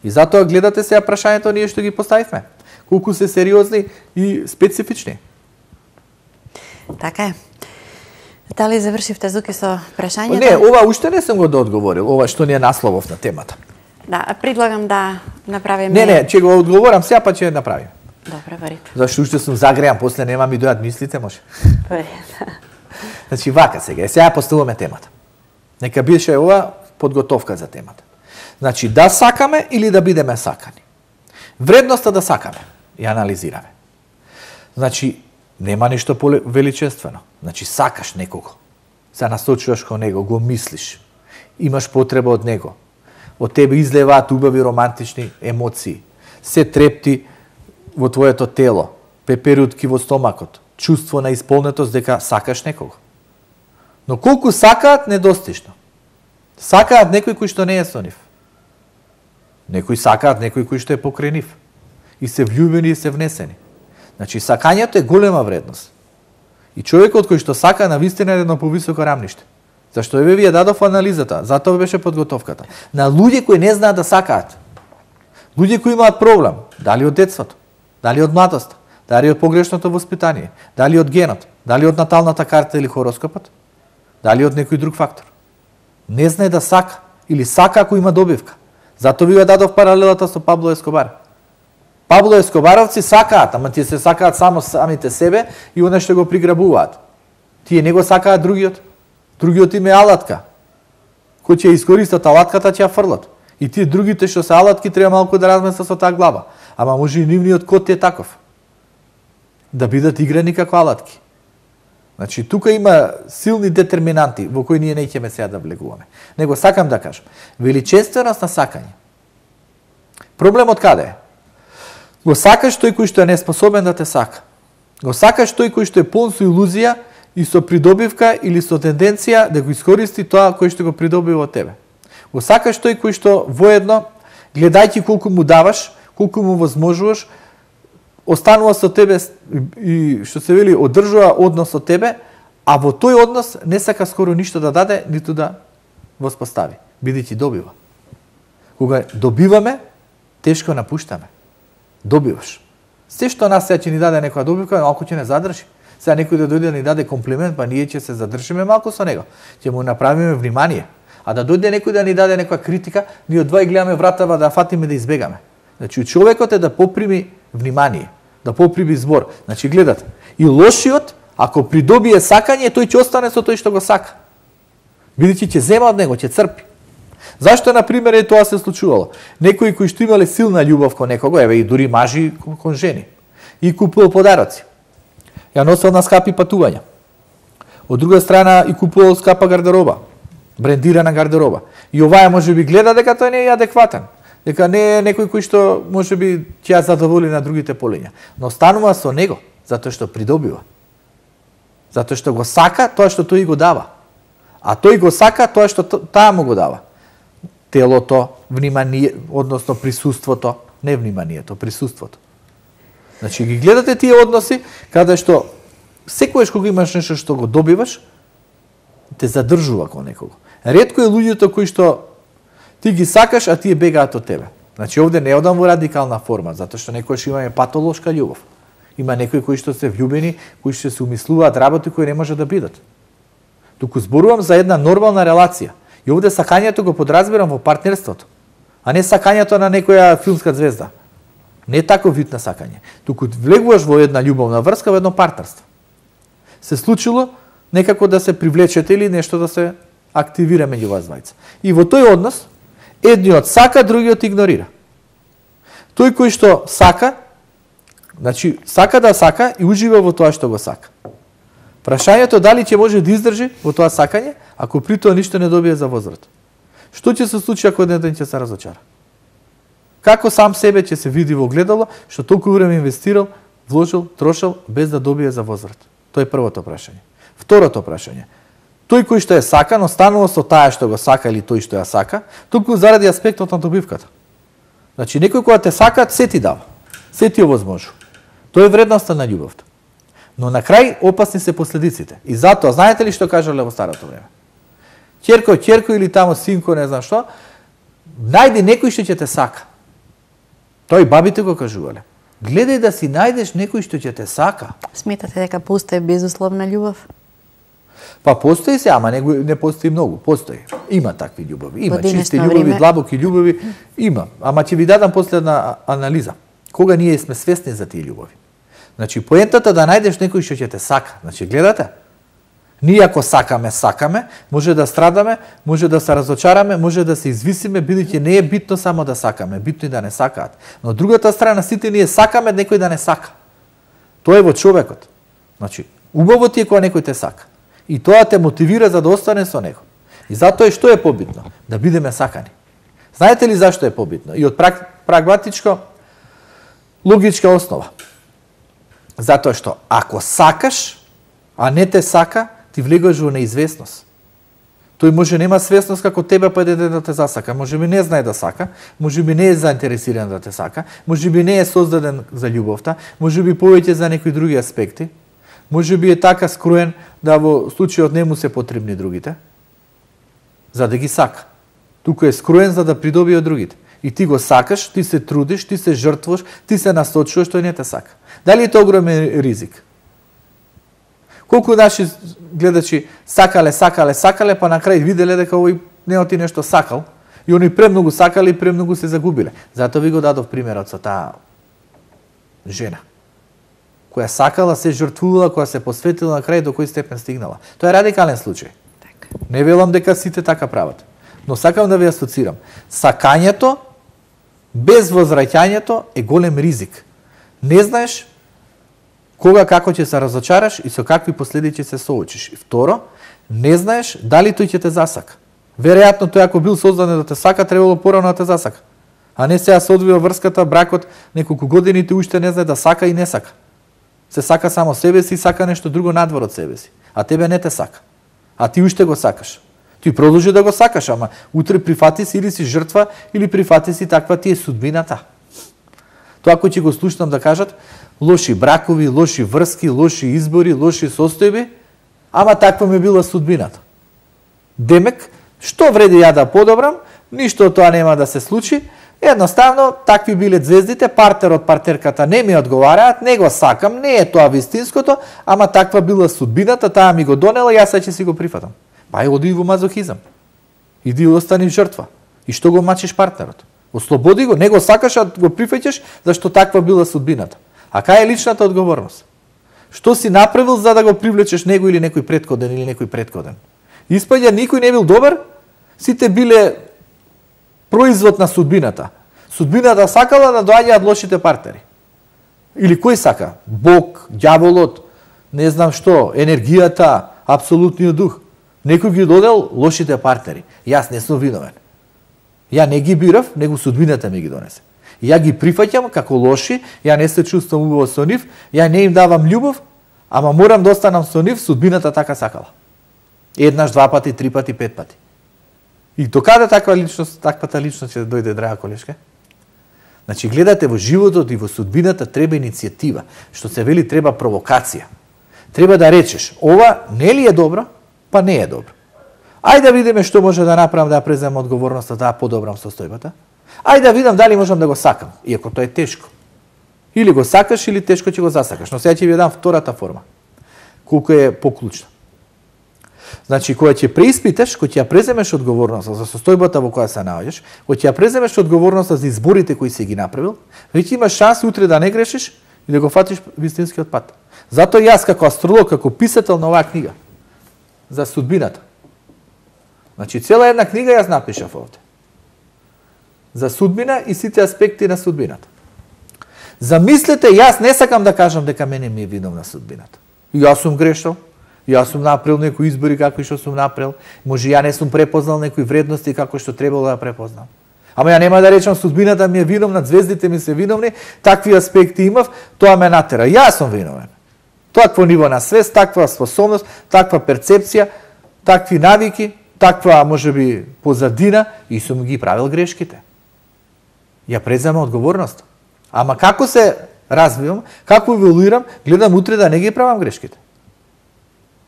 И затоа гледате сега прашањето ние што ги поставивме. Колку се сериозни и специфични. Така е. Дали завршивте, Зуки, со прашањето? Не, ова уште не сум го доодговорил, ова што ни е насловов на темата. Да, предлагам да направиме... Не, ќе го одговорам сега, па ќе направим. Добре, во ред. Зашто уште сум загреан, после нема ми дојат мислите, може. Во ред. Значи, вака сега поставуваме темата. Нека беше ова подготовка за темата. Значи, да сакаме или да бидеме сакани. Вредноста да сакаме, ја анализираме. Значи, нема нешто величествено. Значи, сакаш некого. Се насочуваш кон него, го мислиш. Имаш потреба од него. Од тебе излеваат убави романтични емоции. Се трепти во твоето тело, пеперутки во стомакот, чувство на исполнетост дека сакаш некого. Но колку сакаат, недостижно. Сакаат некој кој што не е со нив. Некои сакаат некој кој што е покрај нив. И се влюбени и се внесени. Значи, сакањето е голема вредност. И човекот кој што сака навистина е едно повисоко рамниште. Зашто еве ви ја дадов анализата, затоа беше подготовката. На луѓе кои не знаат да сакаат. Луѓе кои имаат проблем, дали од детството, дали од младоста, дали од погрешното воспитание, дали од генот, дали од наталната карта или хороскопот, дали од некој друг фактор. Не знае да сака или сака ако има добивка. Затоа ви ја дадов паралелата со Пабло Ескобар. Пабло Ескобаровци сакаат, ама тие се сакаат само самите себе и оно што го приграбуваат. Тие не го сакаат другиот. Другиот им е алатка. Кој ќе искористат алатката, ќе ја фрлат. И тие другите што се алатки треба малку да размислат со таа глава. Ама може и нивниот код е таков. Да бидат играни како алатки. Значи, тука има силни детерминанти во кои ние неќеме сега да влегуваме. Него сакам да кажам, величественост на сакање. Проблемот каде е? Го сакаш тој кој што е неспособен да те сака. Го сакаш тој кој што е полн со илузија и со придобивка или со тенденција да го искористи тоа кој што го придобива од тебе. Го сакаш тој кој што воедно, гледајќи колку му даваш, колку му возможуваш, останува со тебе и што се вели одржува однос со тебе, а во тој однос не сака скоро ништо да даде, ниту да воспостави, бидејќи добива. Кога добиваме, тешко напуштаме. Добиваш. Се што нас сега ќе ни даде некоја добивка, малку ќе не задржи. Сега некој да дојде да ни даде комплимент, па ние ќе се задржиме малку со него. Ќе му направиме внимание. А да дојде некој да ни даде некоја критика, ние од два и гледаме вратава да фатиме да избегаме. Значи, човекот е да поприми внимание, да поприми збор. Значи, гледате, и лошиот, ако придобие сакање, тој ќе остане со тој што го сака. Бидејќи ќе зема од него, ќе црпи. Зашто, например, е тоа се случувало? Некои кои што имале силна љубов кон некого, еве и дури мажи кон жени, и купувал подароци. Ја носел на скапи патувања. Од друга страна и купувал скапа гардероба, брендирана гардероба. И оваа може би гледа дека тој не е адекватен, дека не е некој кој што може би ќе ја задоволи на другите полиња. Но станува со него, затоа што придобива. Затоа што го сака тоа што тој го дава. А тој го сака тоа што таа му го дава. Телото, внимание, односно присуството, не вниманието, присуството. Значи ги гледате тие односи каде што секогаш кога имаш нешто што го добиваш, те задржува кон некого. Ретко е луѓето кои што ти ги сакаш, а тие бегаат од тебе. Значи овде не одам во радикална форма, затоа што некојаш имаме патолошка љубов. Има некои кои што се влюбени, кои што се умислуваат работи кои не може да бидат. Туку зборувам за една нормална релација. И овде сакањето го подразбирам во партнерството, а не сакањето на некоја филмска звезда. Не таков вид на сакање. Туку влегуваш во една љубовна врска, во едно партнерство. Се случило некако да се привлечете или нешто да се активира меѓу вас двајца. И во тој однос, едниот сака, другиот игнорира. Тој кој што сака, значи сака да сака и ужива во тоа што го сака. Прашањето дали ќе може да издржи во тоа сакање, ако при тоа ништо не добие за возврат. Што ќе се случи ако еден ден ќе се разочара? Како сам себе ќе се види во огледало што толку време инвестирал, вложил, трошил без да добие за возврат? Тоа е првото прашање. Второто прашање. тој кој што е сакан останува со таа што го сака или тој што ја сака, туку заради аспектот на добивката. Значи некој кога те сака, се ти дава, се ти овозможува. Тоа е вредноста на љубовта. Но на крај опасни се последиците. И затоа, знаете ли што кажале во старото време? Ќерко или тамо синко, не знам што, најди некој што ќе те сака. Тоа и бабите го кажувале. Гледај да си најдеш некој што ќе те сака. Сметате дека постои безусловна љубов? Па постои се, ама не постои многу. Постои. Има такви љубови. Има чисти љубови, длабоки љубови. Има. Ама ќе ви дадам последна анализа. Кога ние сме свесни за тие љубови. Значи, поентата да најдеш некој што ќе те сака. Значи, гледате? Ние ако сакаме, може да страдаме, може да се разочараме, може да се извисиме, бидејќи не е битно само да сакаме, битно и да не сакаат. Но од другата страна, сите ние сакаме некој да не сака. Тоа е во човекот. Значи, убаво ти е кога некој те сака. И тоа те мотивира за да остане со него. И затоа што е побитно? Да бидеме сакани. Знаете ли зашто е побитно? И од прагматичко, логичка основа. Затоа што ако сакаш, а не те сака, ти влегаш во неизвестност. Тој може нема свесност како тебе па да те засака, може би не знае да сака, може би не е заинтересиран да те сака, може би не е создаден за љубовта, може би повеќе за некои други аспекти, може би е така скроен да во случајот не му се потребни другите, за да ги сака. Туку е скроен за да придобие од другите. И ти го сакаш, ти се трудиш, ти се жртвуваш, ти се насочуваш, тој не те сака. Дали е тоа огромен ризик? Колку наши гледачи сакале, па на крај виделе дека овој не оти нешто сакал, и они премногу сакале и премногу се загубиле. Затоа ви го дадов примерот со таа жена, која сакала, се жртвувала, која се посветила, на крај до кој степен стигнала. Тоа е радикален случај. Не велам дека сите така прават, но сакам да ви асоцирам. Сакањето без возвраќањето е голем ризик. Не знаеш кога, како ќе се разочараш и со какви последици се соочиш. И второ, не знаеш дали тој ќе те засака. Веројатно тој ако бил создаден да те сака, требало порано да те засака. А не сега се одвива врската, бракот, неколку години ти уште не знае да сака и не сака. Се сака само себе си и сака нешто друго надвор од себе си. А тебе не те сака. А ти уште го сакаш. Ти продолжи да го сакаш, ама утре прифати си или си жртва, или прифати си таква ти е судбината. Тоа кој ќе го слушнам да кажат, лоши бракови, лоши врски, лоши избори, лоши состојби, ама таква ми била судбината. Демек, што вреди ја да подобрам, ништо од тоа нема да се случи, едноставно, такви биле звездите, партер од партерката не ми одговараат, не го сакам, не е тоа вистинското, ама таква била судбината, таа ми го донела, јас ќе си го прифатам. Па оди во мазохизам. Иди остани жртва. И што го мачиш партнерот? Ослободи го, не го сакаш, а го прифаќаш, зашто таква била судбината. А кај е личната одговорност? Што си направил за да го привлечеш него или некој предходен? Испаѓа никој не бил добар, сите биле производ на судбината. Судбината сакала да доаѓаат лошите партнери. Или кој сака? Бог, ѓаволот, не знам што, енергијата, апсолутниот дух. Некој ги додел лошите партнери. Јас не сум виновен. Ја не ги бирав, него судбината ми ги донесе. Ја ги прифаќам како лоши, ја не се чувствам убаво со нив, ја не им давам љубов, ама морам да останам со нив, судбината така сакала. Еднаш, два пати, три пати, пет пати. И до каде таквата личност ќе дојде, драга колешка? Значи, гледате, во животот и во судбината треба иницијатива. Што се вели, треба провокација. Треба да речеш, ова не ли е добро, па не е добро. Ајде да видиме што може да направам да ја преземам одговорноста, да ја подобрам состојбата. Ајде да видам дали можам да го сакам, иако тоа е тешко. Или го сакаш, или тешко ќе го засакаш. Но сега ќе ви дам втората форма, колку е поклучна. Значи, кога ќе преиспиташ, кога ќе ја преземеш одговорноста за состојбата во која се наоѓаш, кога ќе ја преземеш одговорноста за изборите кои си ги направил, веќе имаш шанс утре да не грешиш и да го фатиш вистинскиот пат. Затоа јас како астролог, како писател на оваа книга за судбината, значи цела една книга јас напишав овде. За судбина и сите аспекти на судбината. Замислете, јас не сакам да кажам дека мене ми е виновна судбината. Јас сум грешал, јас сум направил некои избори како што сум направил, може ја не сум препознал некои вредности како што требало да препознам. Ама ја нема да речам судбината ми е виновна, звездите ми се виновни, такви аспекти имав, тоа ме натера. Јас сум виновен. Такво ниво на свест, таква способност, таква перцепција, такви навики, таква можеби позадина и сум ги правил грешките. Ја презема одговорност. Ама како се развивам, како еволуирам, гледам утре да не ги правам грешките.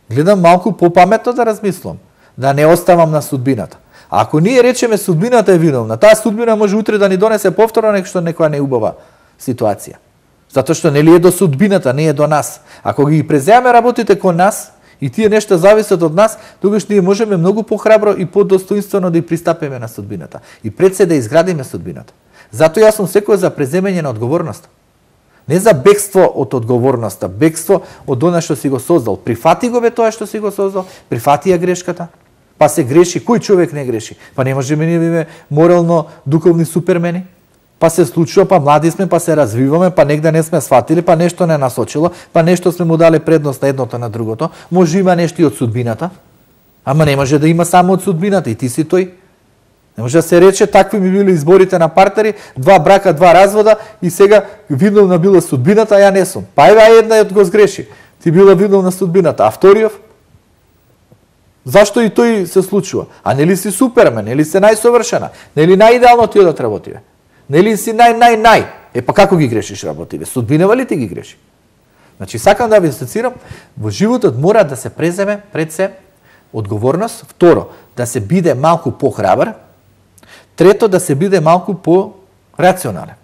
Гледам малку попаметно да размислам, да не оставам на судбината. А ако ние речеме судбината е виновна, таа судбина може утре да ни донесе повторно некоја неубава ситуација. Затоа што нели е до судбината, не е до нас. Ако ги преземаме работите кон нас и тие нешта зависат од нас, тогаш ние можеме многу похрабро и подостоинствено да ја пристапиме на судбината и пред се да изградиме судбината. Затоа јас сум секој за преземање на одговорност. Не за бегство од одговорноста, бегство од она што си го создал. Прифати го бе тоа што си го создал, прифати ја грешката. Па се греши, кој човек не греши? Па не можеме ние биме морално духовни супермени. Па се случува, па млади сме, па се развиваме, па негде не сме сватили, па нешто не насочило, па нешто сме му дали предност на едното на другото. Може има нешто и од судбината, ама не може да има само од судбината и ти си тој. Не може да се рече, такви ми били изборите на партнери, 2 брака, 2 развода и сега виновна била судбината, а ја не сум. Па ева една го сгреши. Ти била виновна судбината, а вториот? Зашто и тој се случува? А нели си супермен, нели си најсовршена, нели најидеално ти одат работиве? Нели си нај? Па како ги грешиш работиве? Судбинава ли ти ги греши? Значи, сакам да ви асоцирам, во животот мора да се преземе пред се одговорност, второ, да се биде малку похрабар, трето, да се биде малку по-рационален.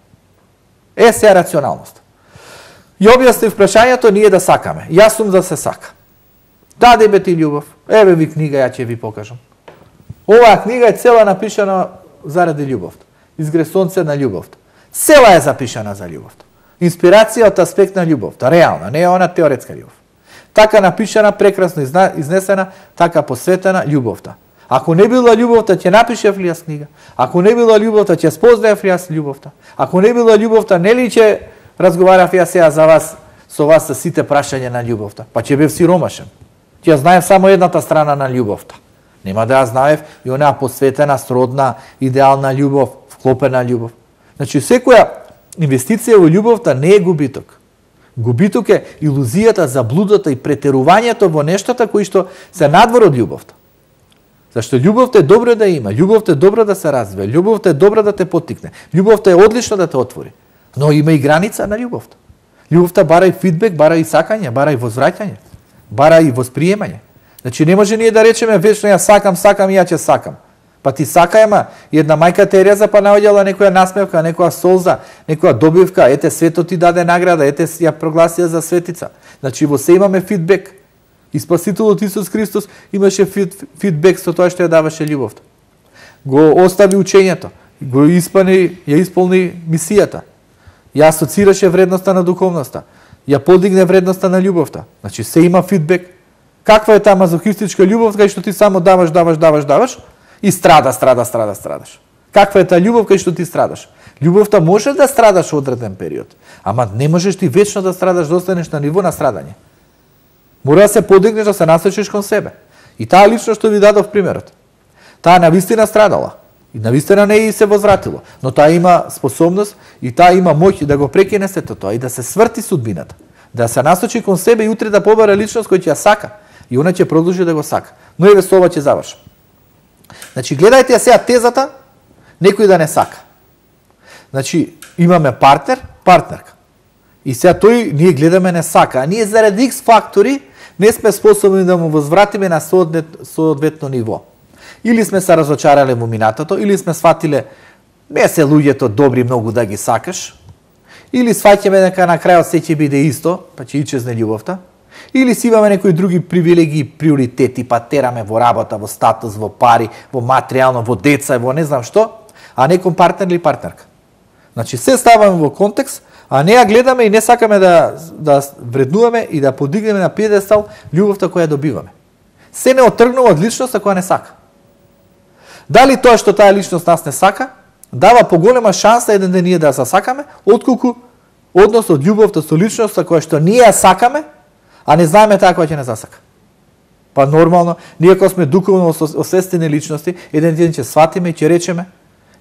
Се рационалност. Ја објаснив прашањето ние да сакаме. Јас сум да се сака. Даде бе ти љубов. Еве ви книга, ја ќе ви покажам. Оваа книга е цела напишана заради љубовта. Изгре сонце на љубовта. Цела е запишана за љубовта. Инспирација од аспект на љубовта, реална, не е она теоретска љубов. Така напишана, прекрасно изнесена, така посветена љубовта. Ако не била љубовта, ќе напишев ли јас книга? Ако не била љубовта, ќе спознаев ли јас љубовта? Ако не била љубовта, нели ќе разговарав јас сега за вас, со вас со сите прашања на љубовта? Па ќе бев сиромашен. Ќе знаев само едната страна на љубовта. Нема да ја знаев и онаа посветена, сродна, идеална љубов, вклопена љубов. Значи, секоја инвестиција во љубовта не е губиток. Губиток е илузијата, заблудата и претерувањето во нештата кои што се надвор од љубовта. Зашто љубовта е добро да има, љубовта е добро да се развие, љубовта е добро да те поттикне, љубовта е одлично да те отвори. Но има и граница на љубовта. Љубовта бара и фидбек, бара и сакање, бара и возвраќање, бара и восприемање. Значи не може ние да речеме вечно ја сакам и ја ќе сакам. Па ти сака, ема една мајка Тереза па наоѓала некоја насмевка, некоја солза, некоја добивка, ете светот ти даде награда, ете ја прогласија за светица. Значи во се имаме фидбек. И Спасителот Исус Христос имаше фидбек со тоа што ја даваше љубовта. Го остави учењето, ја исполни мисијата. Ја асоцираше вредноста на духовноста, ја подигне вредноста на љубовта. Значи се има фидбек. Каква е таа мазохистичка љубов кај што ти само даваш и страдаш. Каква е таа љубов кај што ти страдаш? Љубовта може да страдаш одреден период, ама не можеш ти вечно да страдаш, да останеш на ниво на страдање. Мора да се подигнеш, да се насочиш кон себе. И таа лично што ви дадов примерот. Таа навистина страдала. И навистина не и се возвратило. Но таа има способност и таа има моќ да го прекине сето тоа и да се сврти судбината. Да се насочи кон себе и утре да побара личност која ќе ја сака. И она ќе продолжи да го сака. Но еве со ова ќе завршам. Значи, гледајте ја сега тезата, некој да не сака. Значи, имаме партнерка. И сега тој, ние гледаме не сака, а ние заради X фактори не сме способни да му возвратиме на соодветно ниво. Или сме се разочарале во минатото, или сме сватиле не се луѓето добри многу да ги сакаш, или сваќаме дека на крајот се ќе биде исто, па ќе ичезне љубовта, или си имаме некои други привилегии, приоритети, па тераме во работа, во статус, во пари, во материјално, во деца, во не знам што, а не кон партнер или партнерка. Значи, се ставаме во контекст, а не ја гледаме и не сакаме да вреднуваме и да подигнеме на пиедестал љубовта која добиваме. Се не отргнува од личноста која не сака. Дали тоа што таа личност нас не сака, дава поголема шанса еден ден ние да се сакаме, отколку однос од љубовта со личноста која што ние ја сакаме, а не знаеме таа која ќе не засака. Па нормално, ние кога сме духовно освестени личности, еден ден ќе сватиме и ќе речеме,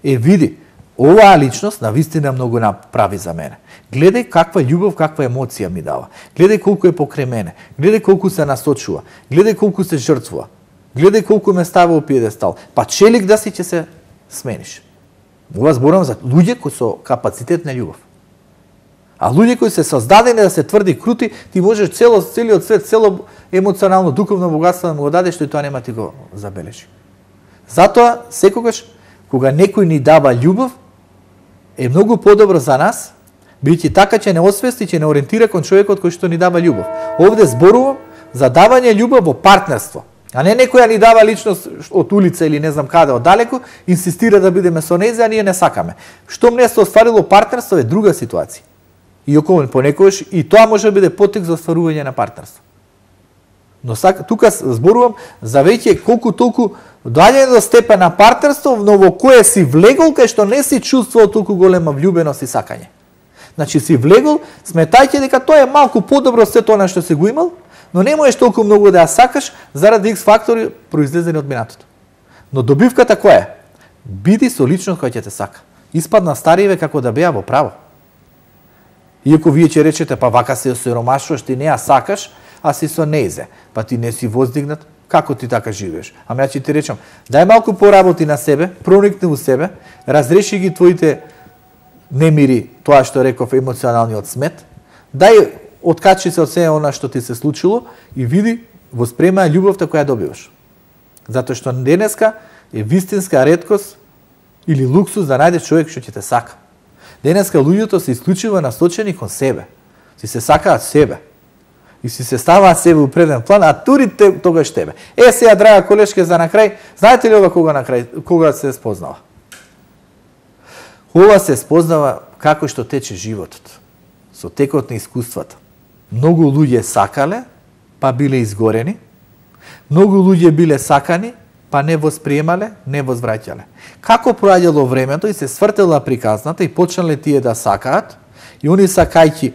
види, оваа личност навистина многу направи за мене. Гледај каква љубов, каква емоција ми дава. Гледај колку е покрај мене. Гледај колку се насочува. Гледај колку се жртвува. Гледај колку ме става у пиедестал. Па челик да си ќе се смениш. Ова зборам за луѓе кои со капацитет на љубов. А луѓе кои се создадени да се тврди и крути, ти можеш целиот свет, цело емоционално, духовно богатство да му го дадеш, тој тоа нема ти го забележи. Затоа, секогаш, кога некој ни дава љубов, е многу подобро за нас, бидејќи така ќе не освести, ќе не ориентира кон човекот кој што ни дава љубов. Овде зборувам за давање љубов во партнерство, а не некоја ни дава личност од улица или не знам каде оддалеку, инсистира да бидеме со нејзе, а ние не сакаме. Што не се остварило партнерство е друга ситуација. Иако понекогаш и тоа може да биде потек за остварување на партнерство. Но тука зборувам за веќе колку толку доаѓање до степен на партнерство, но во кое си влегол, кај што не си чувствувал толку голема влюбеност и сакање. Значи си влегол, сметајќи дека тоа е малку подобро се тоа што си го имал, но не можеш толку многу да ја сакаш заради X фактори произлезени од минатото. Но добивката која е? Биди со личност која ќе те сака. Испадна стариве како да беа во право. Иако вие ќе речете, па вака се осиромашуваш, ти не ја сакаш, а си со нејзе. Па ти не си воздигнат, како ти така живееш? Ама ја ќе ти речам, дај малку поработи на себе, проникни у себе, разреши ги твоите немири, тоа што реков емоционалниот смет, дај откачи се од се она што ти се случило и види, воспремај љубовта која добиваш. Затоа што денеска е вистинска реткост или луксус да најдеш човек што ќе те сака. Денеска луѓето се исклучиво насочени кон себе. Си се сакаат себе. И си се ставаат себе у преден план, а тури тогаш тебе. Сега, драга колешке, за накрај, знаете ли ова кога се спознава? Ова се спознава како што тече животот, со текот на искуствата. Многу луѓе сакале, па биле изгорени. Многу луѓе биле сакани, па не восприемале, не возвраќале. Како проаѓало времето и се свртела приказната и почнале тие да сакаат, и они сакајќи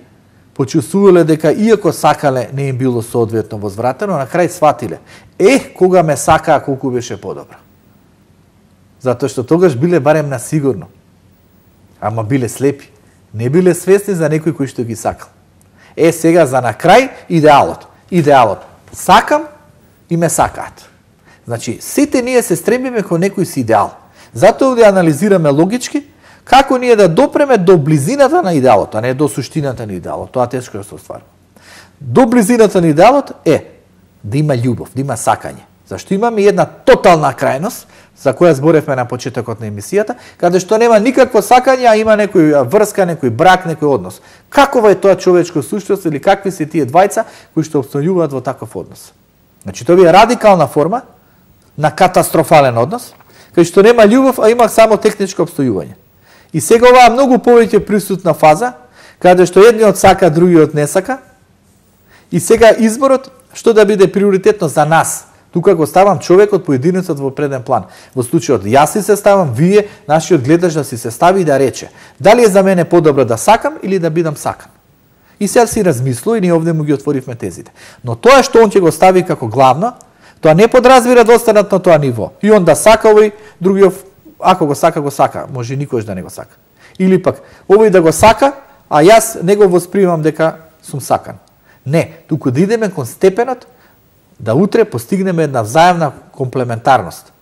почувствувале дека иако сакале не им било соодветно возвратено, на крај сватиле. Кога ме сакаа, колку беше подобро. Затоа што тогаш биле барем на сигурно. Ама биле слепи. Не биле свесни за некој кој што ги сакал. Сега за на крај идеалот. Идеалот. Сакам и ме сакаат. Значи, сите ние се стремиме кон некој си идеал. Затоа да анализираме логички како ние да допреме до близината на идеалот, а не до суштината на идеалот. Тоа тешко да се остварува. До близината на идеалот е да има љубов, да има сакање. Зашто имаме една тотална крајност, за која зборевме на почетокот на емисијата, каде што нема никакво сакање, а има некој врска, некој брак, некој однос. Какова е тоа човечко суштност или какви се тие двајца кои што обстојуваат во таков однос? Значи, тоа е радикална форма на катастрофален однос, кај што нема љубов, а има само техничко обстојување. И сега оваа многу повеќе присутна фаза, каде што едниот сака, другиот не сака, и сега изборот што да биде приоритетно за нас. Тука го ставам човекот, поединецот во преден план. Во случајот јас си се ставам, вие, нашиот гледач да си се стави и да рече, дали е за мене подобро да сакам или да бидам сакан. И сега си размислува и ние овде му ги отворивме тезите. Но тоа што он ќе го стави како главно, тоа не подразбира да останат на тоа ниво. И он да сака овој, другиот, ако го сака, може никош да не го сака. Или пак, овој да го сака, а јас не го восприемам дека сум сакан. Не, туку да идеме кон степенот, да утре постигнеме една взаемна комплементарност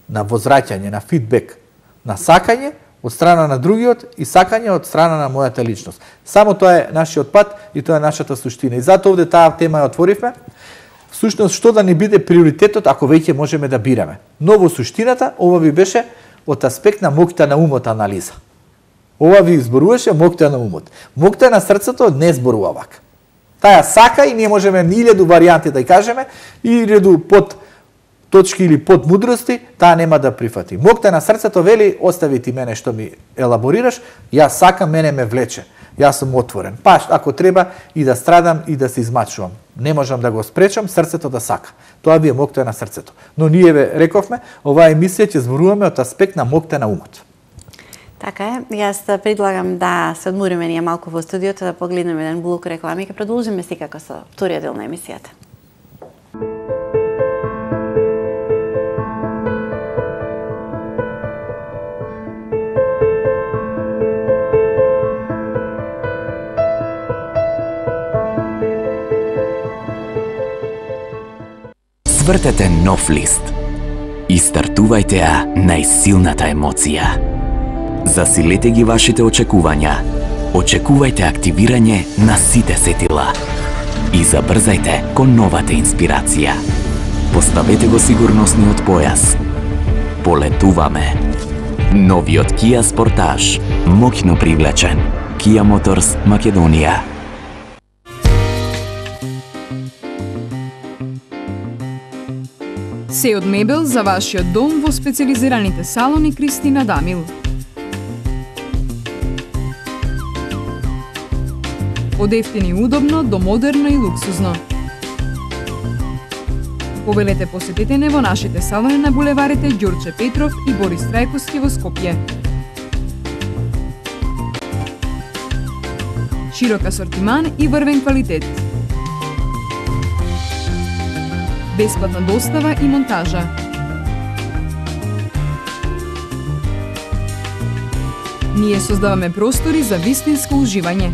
на возвраќање, на фидбек, на сакање од страна на другиот и сакање од страна на мојата личност. Само тоа е нашиот пат и тоа е нашата суштина. И затоа овде таа тема ја отворивме. Всушност, што да ни биде приоритетот ако веќе можеме да бираме. Но во суштината, ова ви беше од аспект на моќта на умот анализа. Ова ви зборуваше моќта на умот. Моќта на срцето не зборува вака. Таја сака и ние можеме 1000 варијанти да ја кажеме, и реду под точки или под мудрости, таа нема да прифати. Моќта на срцето вели, остави ти мене што ми елаборираш, јас сакам, мене ме влече. Јас сум отворен. Па, ако треба и да страдам и да се измачувам. Не можам да го спречам срцето да сака. Тоа би е моќта на срцето. Но ние ве рековме, оваа емисија ќе зборуваме од аспект на моќта на умот. Така е. Јас предлагам да се одмориме ние малку во студиото, да погледнеме еден блок реклами и ќе продолжиме секако со вториот дел на емисијата. Извртете нов лист и стартувајте ја најсилната емоција. Засилете ги вашите очекувања. Очекувајте активирање на сите сетила. И забрзајте кон новата инспирација. Поставете го сигурносниот појас. Полетуваме. Новиот Kia Sportage, моќно привлечен. Kia Motors, Македонија. Се од мебел за вашиот дом во специализираните салони Кристина Дамил. Од ефтини и удобно до модерно и луксузно. Повелете посетете не во нашите салони на булеварите Ѓурче Петров и Борис Трајковски во Скопје. Широк асортиман и врвен квалитет. Бесплатна достава и монтажа. Ние создаваме простори за вистинско уживање.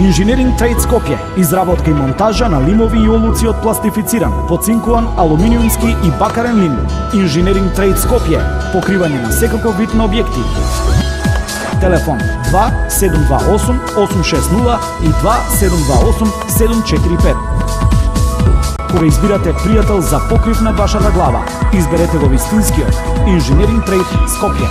Инженеринг Трейд Скопје, изработка и монтажа на лимови и олуци од пластифициран, поцинкуван, алуминиумски и бакарен лим. Инженеринг Трейд Скопје, покривање на секаков вид на објекти. Телефон 2728 860 и 2728 745. Кога избирате пријател за покрив на вашата глава, изберете го вистинскиот Инженеринг Трейд Скопје.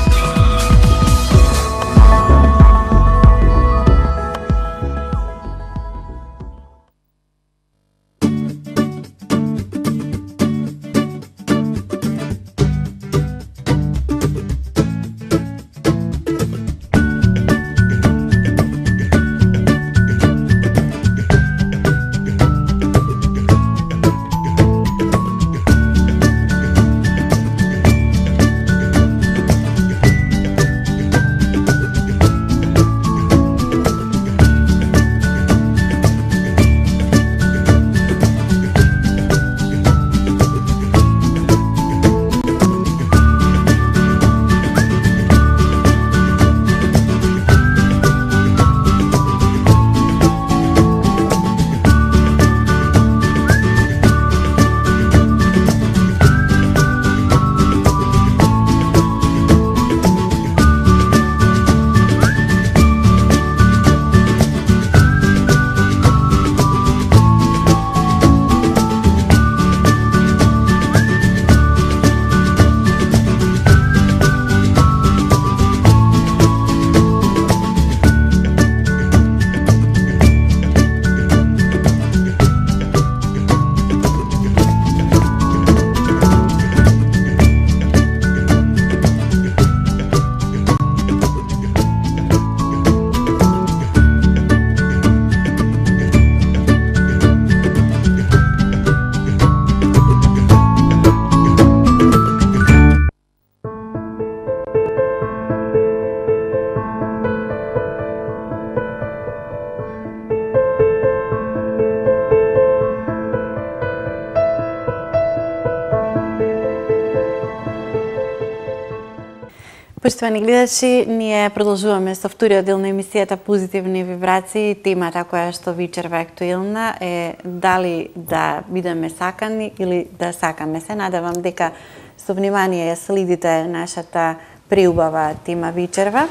Поштовани гледачи, ние продолжуваме со вториот дел на емисијата Позитивни вибрации. Темата која што вечерва актуелна е дали да бидеме сакани или да сакаме. Се надевам дека со внимание ја следите нашата преубава тема вечерва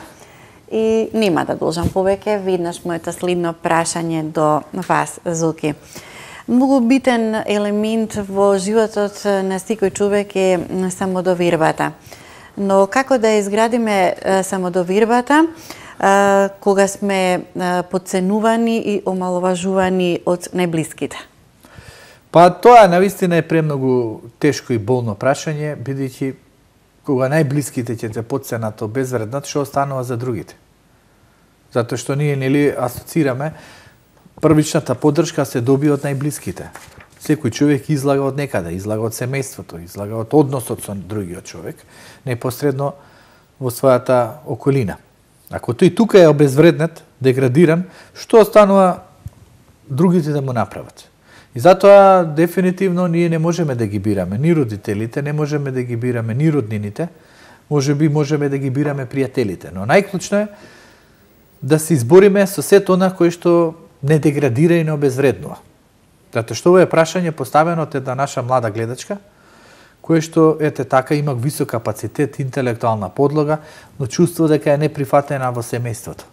и нема да должам повеќе. Веднаш моето следно прашање до вас, Зоки. Многу битен елемент во животот на секој човек е самодовербата. Но како да изградиме самодовербата кога сме подценувани и омаловажувани од најблиските? Па тоа навистина е премногу тешко и болно прашање, бидејќи кога најблиските ќе те подценат, обезвреднат, што останува за другите? Затоа што ние нели асоцираме првичната поддршка се добива од најблиските. Секој човек излага од некаде, излага од семејството, излага од односот со другиот човек, непосредно во својата околина. Ако тој тука е обезвреднет, деградиран, што останува другите да му направат? И затоа дефинитивно ние не можеме да ги бираме ни родителите, не можеме да ги бираме ни роднините, можеби можеме да ги бираме пријателите, но најклучно е да се избориме со сето она кој што не деградира и не обезвреднува. Затоа што ова е прашање поставено од една наша млада гледачка, кој што ете така има висок капацитет, интелектуална подлога, но чувство дека е неприфатена во семејството.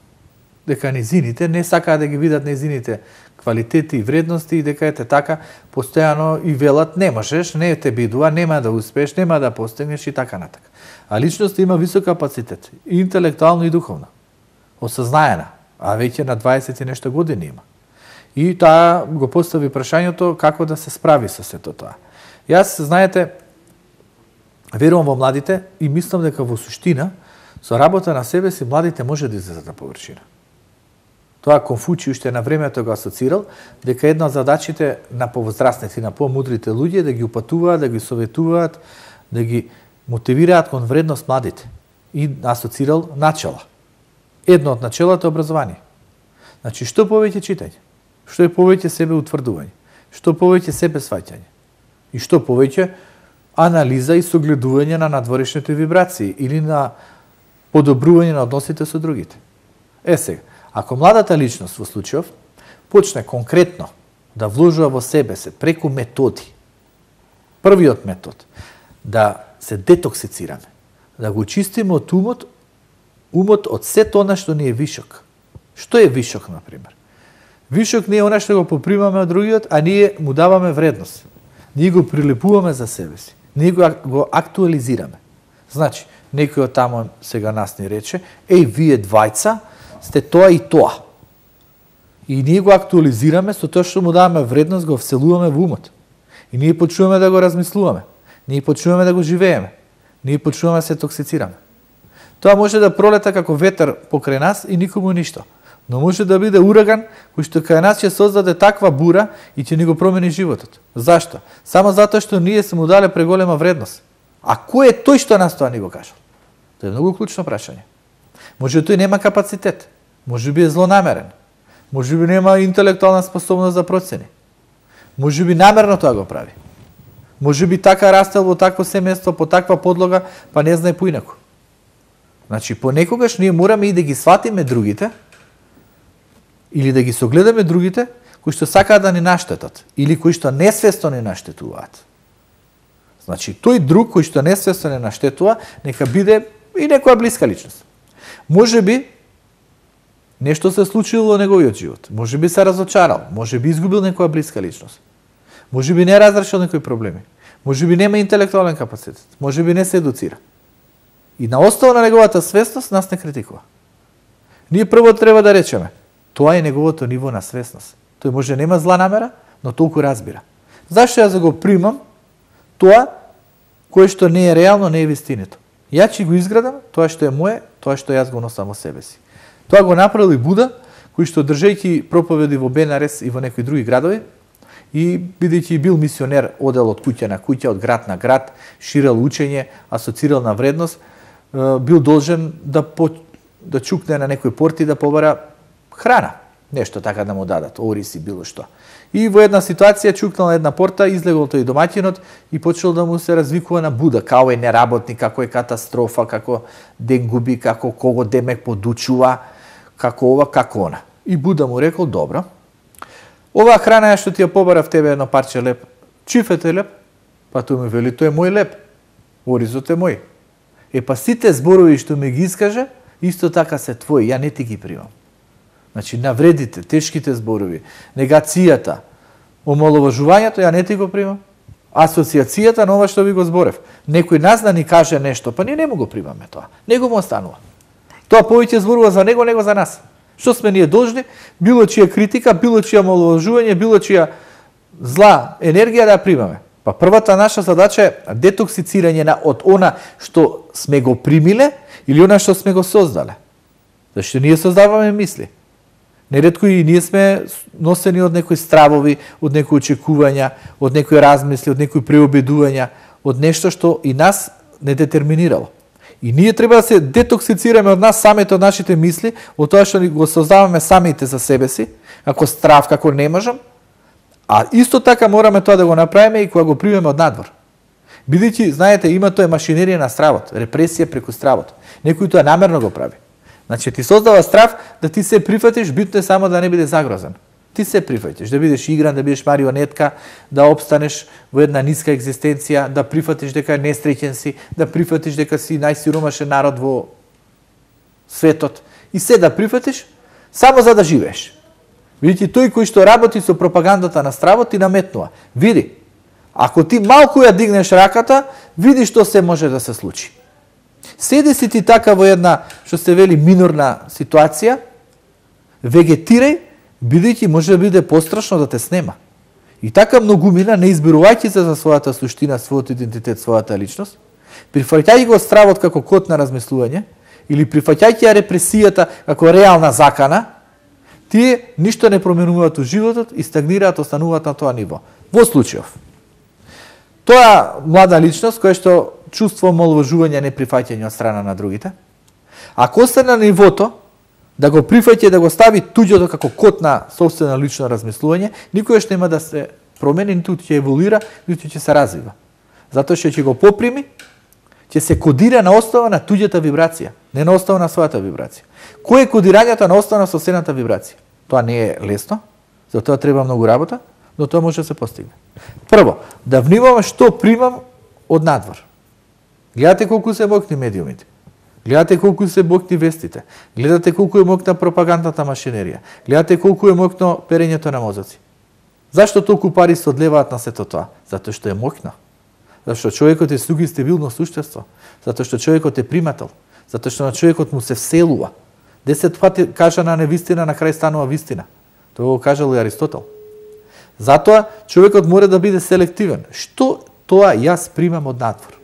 Дека незините не сакаат да ги видат незините квалитети и вредности и дека ете така постојано и велат не можеш, не те бидува, нема да успееш, нема да постигнеш и така натака. А личноста има висок капацитет, и интелектуално и духовно. Осознаена, а веќе на 20 и нешто години има. И таа го постави прашањето како да се справи со сето тоа. Јас, знаете, верувам во младите и мислам дека во суштина со работа на себе си младите може да излезат на површина. Тоа Конфуциј уште на времето го асоцирал дека една од задачите на повозрастните и на помудрите луѓе да ги упатуваат, да ги советуваат, да ги мотивираат кон вредност младите и асоцирал начела. Едно од начелата е образование. Значи, што повеќе читање, што е повеќе себе утврдување, што повеќе себе сваќање и што повеќе анализа и согледување на надворешните вибрации или на подобрување на односите со другите. Сега, ако младата личност во случајов почне конкретно да вложува во себе се преку методи, првиот метод, да се детоксицираме, да го чистиме од умот од сето она што ни е вишок. Што е вишок, например? Вишок не е она што го попримаме од другиот, а ние му даваме вредност. Ние го прилепуваме за себе си. Ние го актуализираме. Значи, некој од тамо сега нас ни рече, вие двајца сте тоа и тоа. И ние го актуализираме со тоа што му даваме вредност, го вселуваме во умот. И ние почнуваме да го размислуваме. Ние почнуваме да го живееме. Ние почнуваме да се токсицираме. Тоа може да пролета како ветер покрај нас и никому ништо. Но може да биде ураган кој што кај нас ќе создаде таква бура и ќе ни го промени животот. Зашто? Само затоа што ние се му дале преголема вредност. А кој е тој што нас тоа ни го кажал? Тоа е многу клучно прашање. Може тој нема капацитет, може би е злонамерен, може би нема интелектуална способност за процени, може би намерно тоа го прави, може би така растел во такво семејство, по таква подлога, па не знае поинаку. Значи, понекогаш ние мораме и да ги сватиме другите, или да ги согледаме другите, кои што сакаат да ни наштетат, или кои што несвесно ни наштетуваат. Значи, тој друг кој што несвесно ни наштетува, нека биде и некоја блиска личност. Може би нешто се случило во неговиот живот, може би се разочарал, може би изгубил некоја блиска личност, може би не разрешил некои проблеми, може би нема интелектуален капацитет, може би не се едуцира. И на основа на неговата свесност нас не критикува. Ние прво треба да речеме, тоа е неговото ниво на свесност. Тој може нема зла намера, но толку разбира. Зашто јас го примам тоа кое што не е реално, не е вистинито? Ја ќе го изградам тоа што е мое, тоа што јас го носам во себе си. Тоа го направил и Буда, кој што држејќи проповеди во Бенарес и во некои други градови, и бидејќи бил мисионер, одел од куќа на куќа, од град на град, ширел учење, асоцирал на вредност, бил должен да чукне на некој порти да побара храна, нешто така да му дадат, ориси, било што. И во една ситуација чукнал на една порта, излегол тој домаќинот и почел да му се развикува на Буда, како е неработник, како е катастрофа, како ден губи, како кого демек подучува, како ова, како она. И Буда му рекол, добро, оваа храна што ти ја побарав тебе едно парче леп, чиф е тој леп? Па тој му вели, тој е мој леп, оризот е мој. Па сите зборови што ми ги искаже, исто така се твои, ја не ти ги примам. Значи, навредите, тешките зборови, негацијата, омаловажувањето, ја не ти го примам. Асоциацијата на ова што ви го зборев. Некој нас да ни каже нешто, па ние не му го примаме тоа. Него му останува. Тоа повеќе зборува за него, него за нас. Што сме ние должни? Било чија критика, било чија омаловажување, било чија зла енергија да ја примаме. Па првата наша задача е детоксицирање од она што сме го примиле или она што сме го создале. Зашто ние создаваме мисли. Неретко и ние сме носени од некои стравови, од некои очекувања, од некои размисли, од некои преобедувања, од нешто што и нас не детерминирало. И ние треба да се детоксицираме од нас самите, од нашите мисли, од тоа што го создаваме самите за себе си, како страв, како не можам, а исто така мораме тоа да го направиме и кога го примеме од надвор. Бидејќи, знаете, има тоа машинерија на стравот, репресија преку стравот. Некој тоа намерно го прави. Значи, ти создава страв да ти се прифатиш, битно е само да не биде загрозен. Ти се прифатиш, да бидеш игран, да бидеш марионетка, да обстанеш во една ниска екзистенција, да прифатиш дека несреќен си, да прифатиш дека си најсиромашен народ во светот. И се да прифатиш, само за да живееш. Видите, тој кој што работи со пропагандата на стравот ти наметнува. Види, ако ти малку ја дигнеш раката, види што се може да се случи. Седи си ти така во една, што се вели, минорна ситуација, вегетирај, бидејќи може да биде пострашно да те снема. И така многумина, не избирувајќи се за својата суштина, својот идентитет, својата личност, прифаќајќи го стравот како код на размислување, или прифаќајќи ја репресијата како реална закана, тие ништо не променуваат у животот и стагнираат, остануваат на тоа ниво. Во случајов. Тоа млада личност која што чувствува омаловажување, неприфаќање од страна на другите, ако остане на нивото да го прифаќа и да го стави туѓото како код на собствено лично размислување, никогаш нема да се промени, ниту ќе еволуира, ниту ќе се развива. Затоа што ќе го поприми, ќе се кодира на основа на туѓата вибрација, не на основа на својата вибрација. Кој е кодирањето на основа на собствената вибрација? Тоа не е лесно, за тоа треба многу работа, но тоа може да се постигне. Прво, да внимаваме што примам од надвор. Гледате колку се моќни медиумите. Гледате колку се моќни вестите. Гледате колку е моќна пропагандната машинерија. Гледате колку е моќно перењето на мозоци. Зашто толку пари се одлеваат на сето тоа? Затоа што е моќно. Затоа што човекот е сугестивилно суштество. Затоа што човекот е примател. Затоа што на човекот му се вселува. 10 пати кажана невистина, на крај станува вистина. Тоа го кажал и Аристотел. Затоа човекот мора да биде селективен. Што тоа јас примам од надвор?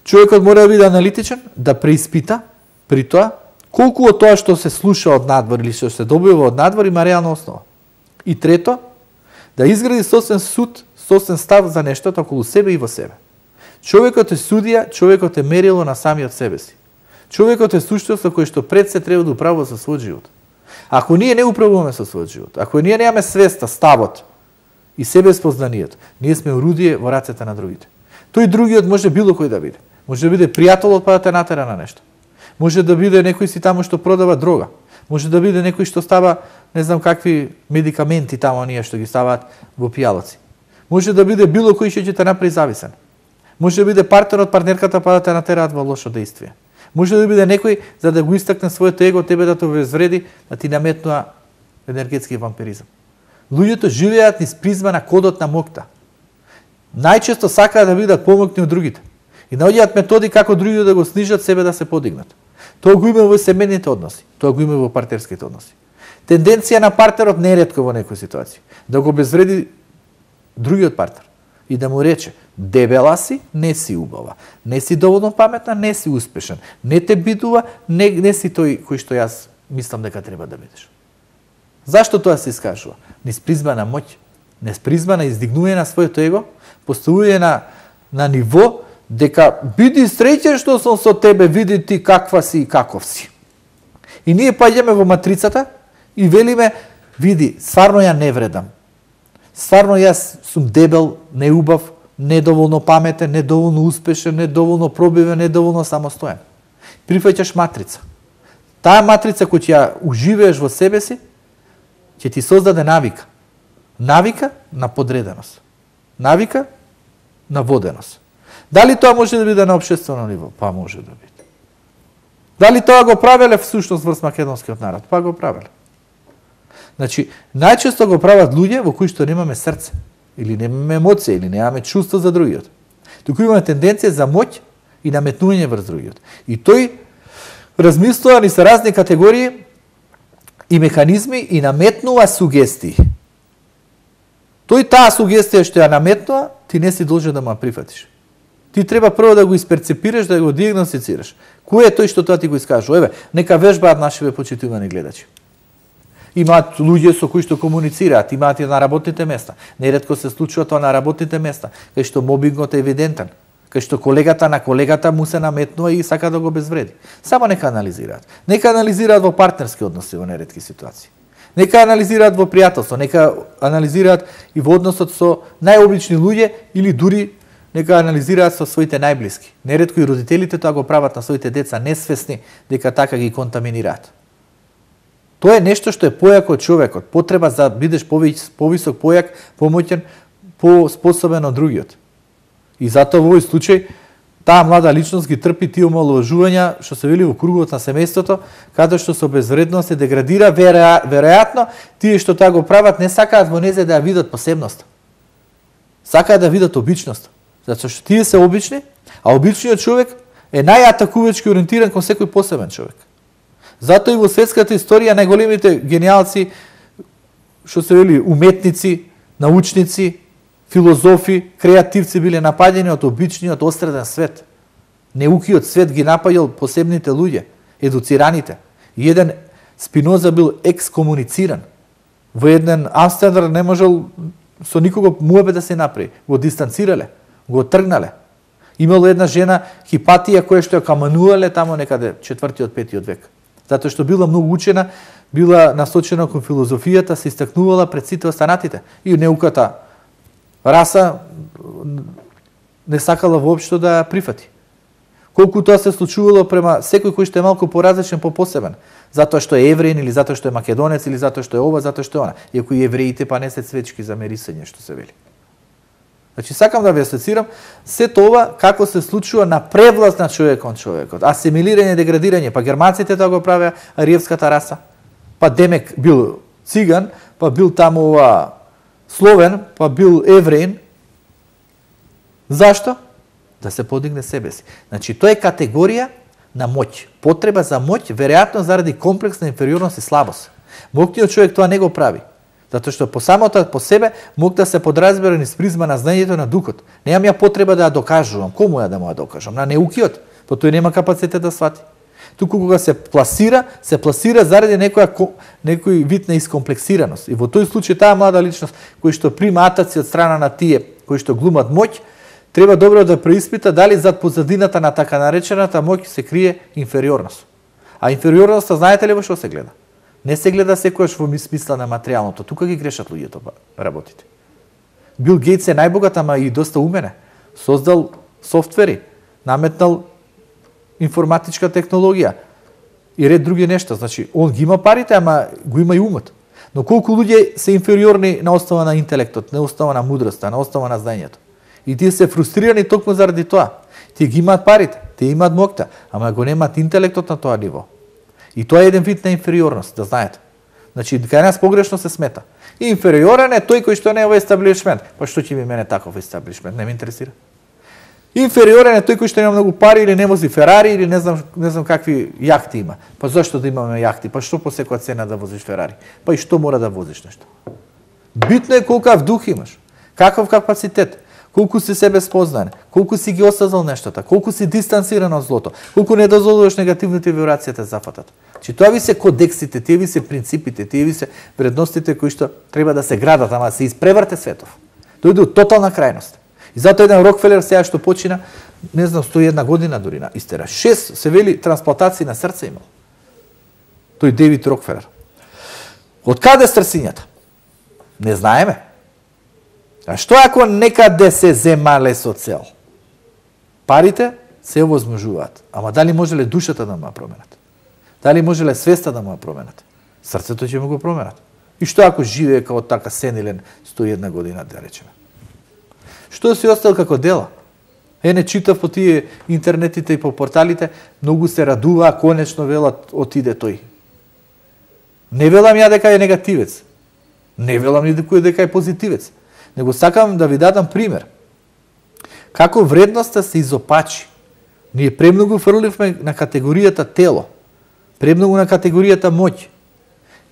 Човекот мора да биде аналитичен, да преиспита при тоа колку од тоа што се слуша од надвор или што се добива од надвор има реална основа. И трето, да изгради собствен суд, собствен став за нештото околу себе и во себе. Човекот е судија, човекот е мерило на самиот себе си. Човекот е суштество кое што пред се треба да управува со својот живот. Ако ние не управуваме со својот живот, ако ние немаме свеста, ставот и себеспознанието, ние сме орудие во рацете на другите. Тој другиот може било кој да биде. Може да биде пријателот па да те натера на нешто. Може да биде некој си таму што продава дрога. Може да биде некој што става, не знам какви медикаменти таму оние што ги ставаат во пијалоци. Може да биде било кој што ќе те направи зависен. Може да биде партнерот, партнерката па да те натераат во лошо дејствие. Може да биде некој за да го истакне своето его, тебе да те обезвреди, да ти наметнува енергетски вампиризам. Луѓето живеат низ призма на кодот на моќта. Најчесто сакаат да бидат помоќни од другите. И наоѓаат методи како другите да го снижат, себе да се подигнат. Тоа го има во семејните односи, тоа го има во партерските односи. Тенденција на партнерот не е ретко во некои ситуации да го обезвреди другиот партнер и да му рече: дебела си, не си убава, не си доволно паметна, не си успешен, не те бидува, не си тој кој што јас мислам дека треба да бидеш. Зашто тоа се искажува? Низ призма на моќ, низ призма на издигнување на своето его, поставување на ниво дека биди среќен што сум со тебе, види ти каква си и каков си. И ние паѓаме во матрицата и велиме: види, стварно ја не вредам. Стварно јас сум дебел, неубав, недоволно паметен, недоволно успешен, недоволно пробивен, недоволно самостоен. Прифаќаш матрица. Таа матрица која ќе ја уживееш во себе си, ќе ти создаде навика. Навика на подреденост. Навика на воденост. Дали тоа може да биде на општествено ниво? Па може да биде. Дали тоа го правеле всушност врз македонскиот народ? Па го правеле. Значи, најчесто го прават луѓе во кои што немаме срце, или немаме емоција, или немаме чувство за другиот. Туку имаме тенденција за моќ и наметнување врз другиот. И тој размислува ни се разни категории и механизми и наметнува сугестии. Тој таа сугестија што ја наметнува, ти не си должен да ма прифатиш. Ти треба прво да го исперцепираш, да го диагностицираш. Кој е тој што тоа ти го искажува? Еве, нека вежбаат нашиве почитувани гледачи. Имаат луѓе со кои што комуницираат, имаат и на работните места. Неретко се случува тоа на работните места, кај што мобингот е евидентен. кај што колегата на колегата му се наметнува и сака да го обезвреди. Само нека анализираат. Нека анализираат во партнерски односи во неретки ситуации. Нека анализираат во пријателство, нека анализираат и во односот со најобични луѓе или дури нека анализираат со своите најблиски. Неретко и родителите тоа го прават на своите деца несвесни дека така ги контаминираат. Тоа е нешто што е појако од човекот, потреба за бидеш повисок, појак, помоќен, поспособен од другиот. И затоа во овој случај таа млада личност ги трпи тие омаловажувања што се вели во кругот на семејството, каде што со безвредност се деградира, веројатно тие што тоа го прават не сакаат во незе да ја видат посебноста. Сакаат да видат обичност. Затоа што тие се обични, а обичниот човек е најатакувачки ориентиран кон секој посебен човек. Затоа и во светската историја најголемите гениалци, што се вели уметници, научници, филозофи, креативци биле нападени од обичниот осреден свет. Неукиот свет ги напаѓал посебните луѓе, едуцираните. И еден Спиноза бил екскомунициран. Во еден Амстердам не можел со никого муабет да се направи. Го дистанцирале, го тргнале. Имало една жена Хипатија која што ја каманувале тамо некаде 4-5 век. Затоа што била многу учена, била насочена кон филозофијата, се истакнувала пред сите останатите. И неуката раса не сакала воопшто да прифати. Колку тоа се случувало према секој кој што е малку поразличен, попосебен. Затоа што е евреин или затоа што е македонец или затоа што е ова, затоа што е она. Иако и евреите па не се цвечки за мерисање, што се вели. Значи сакам да ви асоцирам сето ова како се случува на превласт на човекот, асимилирање, деградирање, па германците тоа го правеа, ариевската раса. Па Демек бил циган, па бил таму ова словен, па бил евреин. Зашто? Да се подигне себе си. Значи тоа е категорија на моќ, потреба за моќ, веројатно заради комплекс на инфериорност и слабост. Моќниот човек тоа не го прави. Затоа што по самото по себе мог да се подразбира низ призма на знаењето на духот. Немам ја потреба да ја докажувам. Кому ја да му ја докажам? На неукиот, па тој нема капацитет да свати. Туку кога се пласира заради некој вид на искомплексираност. И во тој случај таа млада личност кој што прима атаци од страна на тие кои што глумат моќ, треба добро да преиспита дали зад позадината на така наречената моќ се крие инфериорност. А инфериорноста знаете ли во што се гледа? Не се гледа секојаш во смисла на материјалното. Тука ги грешат луѓето работите. Бил Гейтс е најбогат, ама и доста умене. Создал софтвери, наметнал информатичка технологија и ред други нешта. Значи, он ги има парите, ама го има и умот. Но колку луѓе се инфериорни на основа на интелектот, на основа на мудроста, на основа на знаењето. И тие се фрустрирани токму заради тоа. Тие ги имаат парите, тие имаат моќта, ама го немаат интелектот на тоа ниво. И тоа е еден вид на инфериорност, да знаете. Значи, кај нас погрешно се смета. Инфериорен е тој кој што не е во естаблишмент. Па што ќе ми мене таков естаблишмент? Не ме интересира. Инфериорен е тој кој што нема многу пари или не вози Ферари или не знам какви јахти има. Па зашто да имаме јахти? Па што по секоја цена да возиш Ферари? Па и што мора да возиш нешто? Битно е колкав дух имаш, каков капацитет, колку си себе спознаен, колку си ги осознал нештата, колку си дистанциран од злото, колку не дозволуваш негативните вибрации да зафатат. Че тоа ви се кодексите, тие ви се принципите, тие ви се вредностите кои што треба да се градат, ама се испреврте светов. Дојде од тотална крајност. И затоа еден Рокфелер сега што почина, не знам, 101 година дури на истера. 6 се вели трансплантации на срце имал. Тој Дейвид Рокфелер. Од каде стрсињата? Не знаеме. А што ако некаде се земале со цел? Парите се овозможуваат. Ама дали можеле душата да му ја променат? Дали можеле свеста да му ја променат? Срцето ќе му го променат. И што ако живее како така сенилен 101 година, да речеме? Што си остал како дела? Не читав по тие интернетите и по порталите, многу се радува, конечно велат отиде тој. Не велам ја дека е негативец. Не велам ни дека е позитивец. Него сакам да ви дадам пример. Како вредноста се изопачи. Ние премногу фрливме на категоријата тело, премногу на категоријата моќ,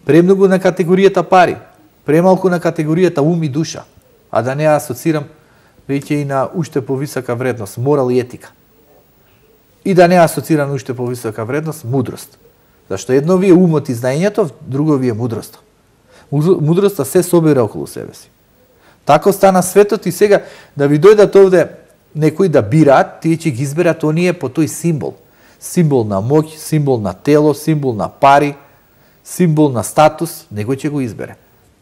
премногу на категоријата пари, премалку на категоријата ум и душа, а да не асоцирам веќе и на уште повисока вредност, морал и етика. И да не асоцирам уште повисока вредност, мудрост. Зашто едно ви е умот и знаењето, друго ви е мудроста. Мудроста се собира околу себе си. Тако стана светот и сега да ви дојдат овде некои да бираат, тие ќе ги изберат оние по тој символ. Символ на моќ, символ на тело, символ на пари, символ на статус, некој ќе го избере.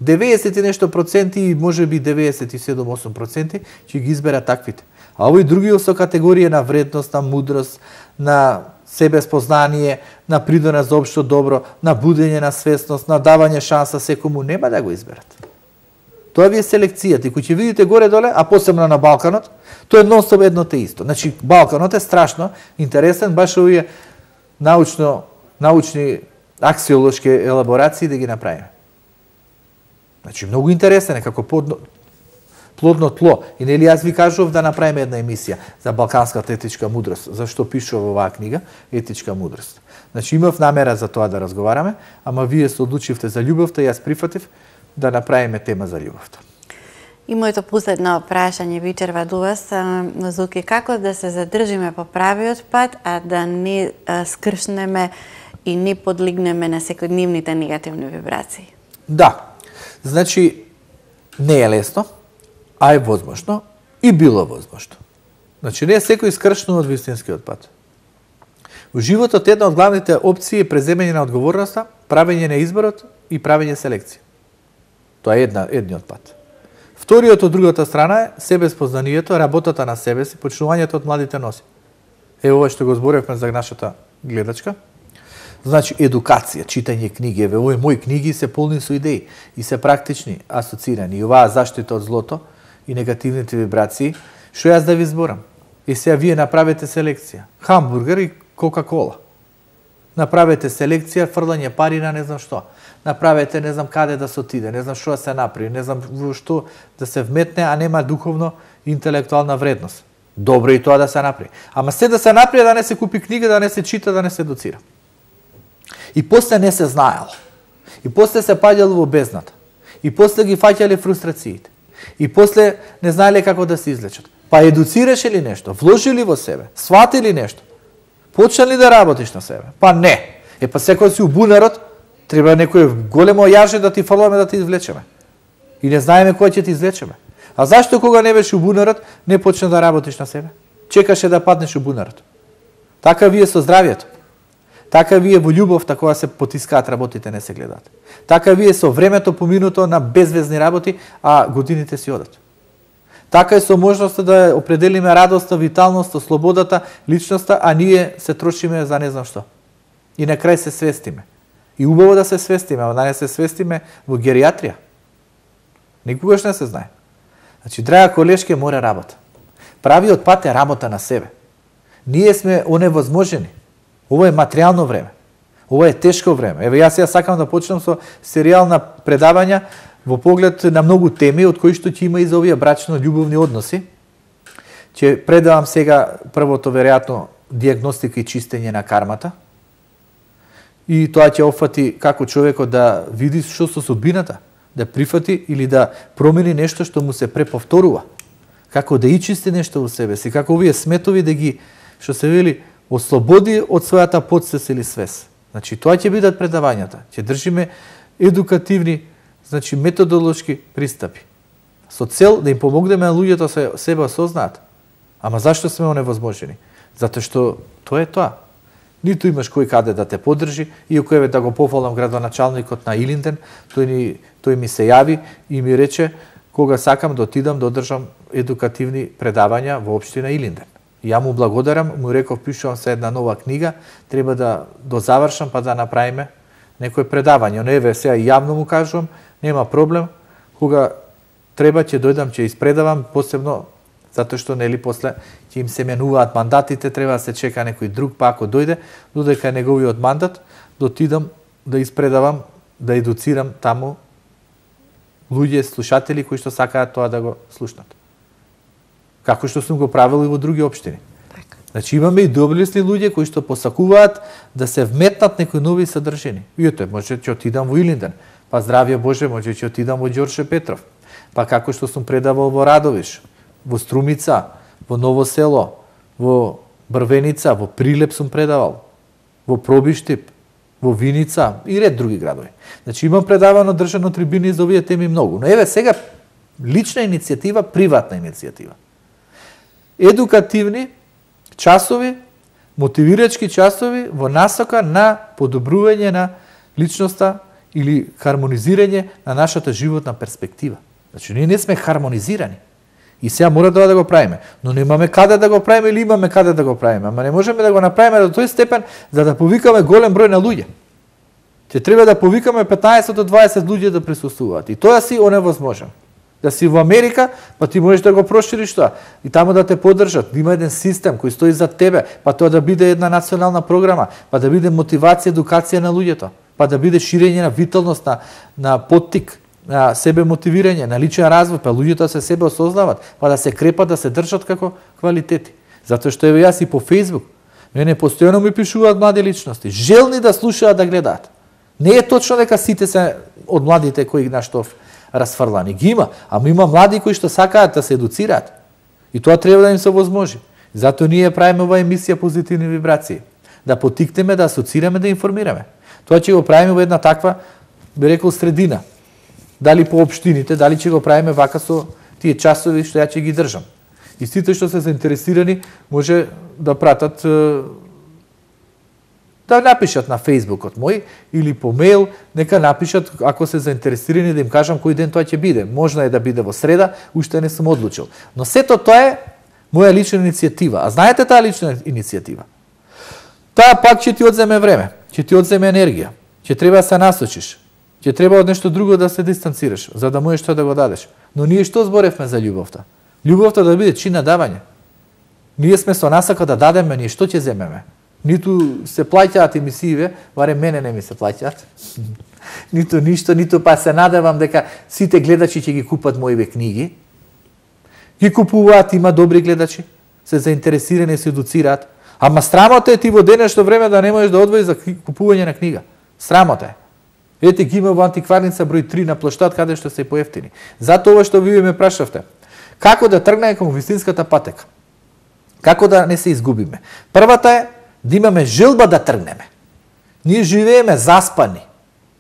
90 и нешто проценти и може би 97-8% ќе ги изберат таквите. А овои други со категорија на вредност, на мудрост, на себеспознание, на придонес за општо добро, на будење на свесност, на давање шанса секому, нема да го изберат. Тоа ви е селекцијата. И кој ќе видите горе-доле, а посебно на Балканот, тоа е нон-стоп едно те исто. Значи, Балканот е страшно интересен, баш овие научни аксиолошки елаборации да ги направиме. Значи, многу интересен е како плодно тло. И нели јас ви кажував да направиме една емисија за балканската етичка мудрост, зашто пишува во оваа книга Етичка мудрост. Значи, имав намера за тоа да разговараме, ама вие се одлучивте за љубовта и јас прифатив да направиме тема за љубовта. И моето последно прашање вечерва до вас, Зуки, како да се задржиме по правиот пат, а да не скршнеме и не подлегнеме на секојдневните негативни вибрации? Да, значи не е лесно, а е возможно и било возможно. Значи не е секој скршнува од вистинскиот пат. Во животот една од главните опции е преземање на одговорноста, правење на изборот и правење селекција. Тоа е едниот пат. Вториот од другата страна е себеспознанието, работата на себе си, почнувањето од младите носи. Ова што го зборевме за нашата гледачка. Значи, едукација, читање книги. Овој мои книги се полни со идеи и се практични, асоцирани. И оваа заштита од злото и негативните вибрации, што јас да ви зборам. И сега вие направете селекција. Хамбургер и Кока-кола. Направете селекција, фрлање пари на не знам што. Направете не знам каде да се отиде, не знам што да се направи, не знам во што да се вметне, а нема духовно интелектуална вредност. Добро и тоа да се направи. Ама се да се направи, да не се купи книга, да не се чита, да не се доцира. И после не се знаел. И после се паѓало во бездната. И после ги фаќале фрустрациите. И после не знаеле како да се излечат. Па едуцираше ли нешто? Вложи ли во себе? Свати ли нешто? Почна ли да работиш на себе? Па не. Па секој си у бунарот, треба некој големо јаже да ти фрламе да ти извлечеме. И не знаеме кој ќе ти извлечеме. А зашто кога не беше у бунарот, не почна да работиш на себе? Чекаше да паднеш у бунарот. Така вие со здравието. Така вие во љубовта кога се потискаат работите не се гледаат. Така вие со времето поминуто на безвезни работи, а годините си одат. Така е со можноста да определиме радоста, виталноста, слободата, личноста, а ние се трошиме за не знам што. И на крај се свестиме. И убаво да се свестиме, а да не се свестиме во гериатрија. Никогаш не се знае. Значи, драга колешке, мора работа. Правиот пат е работа на себе. Ние сме оневозможени. Ова е материјално време. Ова е тешко време. Еве, јас сакам да почнам со серијал на предавања во поглед на многу теми, од кои што ќе има и за овие брачно-љубовни односи. Ќе предавам сега првото, веројатно, дијагностика и чистење на кармата. И тоа ќе опфати како човекот да види што со судбината, да прифати или да промени нешто што му се преповторува. Како да ичисти нешто во себе си, како овие сметови да ги, што се вели, ослободи од својата подсвест или свест. Значи, тоа ќе бидат предавањата. Ќе држиме едукативни, значи, методолошки пристапи. Со цел да им помогнеме на луѓето се себе осознаат. Ама зашто сме оневозможени? Затоа што тоа е тоа. Ниту имаш кој каде да те поддржи, иако еве да го пофалам градоначалникот на Илинден, тој ми се јави и ми рече кога сакам да отидам да одржам едукативни предавања во општина Илинден. Ја му благодарам, му реков пишувам се една нова книга, треба да дозавршам па да направиме некој предавање. Но еве сега јавно му кажувам, нема проблем, кога треба ќе дојдам, ќе испредавам, посебно затоа што нели после ќе им се менуваат мандатите, треба да се чека некој друг, па ако дојде, додека неговиот мандат, да отидам да испредавам, да едуцирам таму луѓе, слушатели кои што сакаат тоа да го слушнат. Како што сум го правил и во други општини. Значи имаме и доблесни луѓе кои што посакуваат да се вметнат некои нови содржини. И ето, може ќе отидам во Илинден, па здравје Боже, може ќе отидам во Ѓорче Петров, па како што сум предавал во Радовиш, во Струмица, во Ново село, во Брвеница, во Прилеп сум предавал, во Пробиштип, во Виница и ред други градови. Значи имам предавано држано трибини за овие теми многу. Но еве сега лична иницијатива, приватна иницијатива. едукативни часови, мотивирачки часови во насока на подобрување на личноста или хармонизирање на нашата животна перспектива. Значи, ние не сме хармонизирани. И сега мора да го правиме. Но немаме каде да го правиме или имаме каде да го правиме. Ама не можеме да го направиме до тој степен за да повикаме голем број на луѓе. Ќе треба да повикаме 15 до 20 луѓе да присуствуваат. И тоа си оневозможно. Да си во Америка, па ти можеш да го прошириш тоа. И таму да те поддржат, да има еден систем кој стои за тебе, па тоа да биде една национална програма, па да биде мотивација, едукација на луѓето, па да биде ширење на виталност, на поттик, на себе мотивирање, на личен развој, па луѓето се себе осознават, па да се крепат, да се држат како квалитети. Затоа што еве јас и по Facebook, мене постојано ми пишуваат млади личности, желни да слушаат, да гледаат. Не е точно дека сите се од младите кои нашто расфрлани. Ги има, ама има млади кои што сакаат да се едуцираат. И тоа треба да им се возможи. Затоа ние правиме оваа емисија Позитивни вибрации. Да потикнеме, да асоцираме, да информираме. Тоа ќе го правиме во една таква, би рекол, средина. Дали по општините, дали ќе го правиме вака со тие часови што ја ќе ги држам. И сите што се заинтересирани може да пратат, да напишат на Фејсбукот мој или по мејл, нека напишат ако се заинтересирани да им кажам кој ден тоа ќе биде. Можно е да биде во среда, уште не сум одлучил. Но сето тоа е моја лична иницијатива. А знаете таа лична иницијатива? Таа пак ќе ти одземе време, ќе ти одземе енергија, ќе треба да се насочиш, ќе треба од нешто друго да се дистанцираш, за да можеш тоа да го дадеш. Но ние што зборевме за љубовта? Љубовта да биде чин на давање. Ние сме со насака да дадеме, ние што ќе земеме? Ниту се плаќаат емисииве, барем мене не ми се плаќаат. Ниту ништо, ниту па се надевам дека сите гледачи ќе ги купат моите книги. Ги купуваат, има добри гледачи, се заинтересирани, се едуцираат. Ама срамота е ти во денешно време да не можеш да одвоиш за купување на книга. Срамота е. Ете ги има во антикварница број 3 на плоштад каде што се поевтини. Затоа ова што вие ме прашавте. Како да тргнеме кон вистинската патека? Како да не се изгубиме? Првата е да имаме желба да тргнеме. Ние живееме заспани,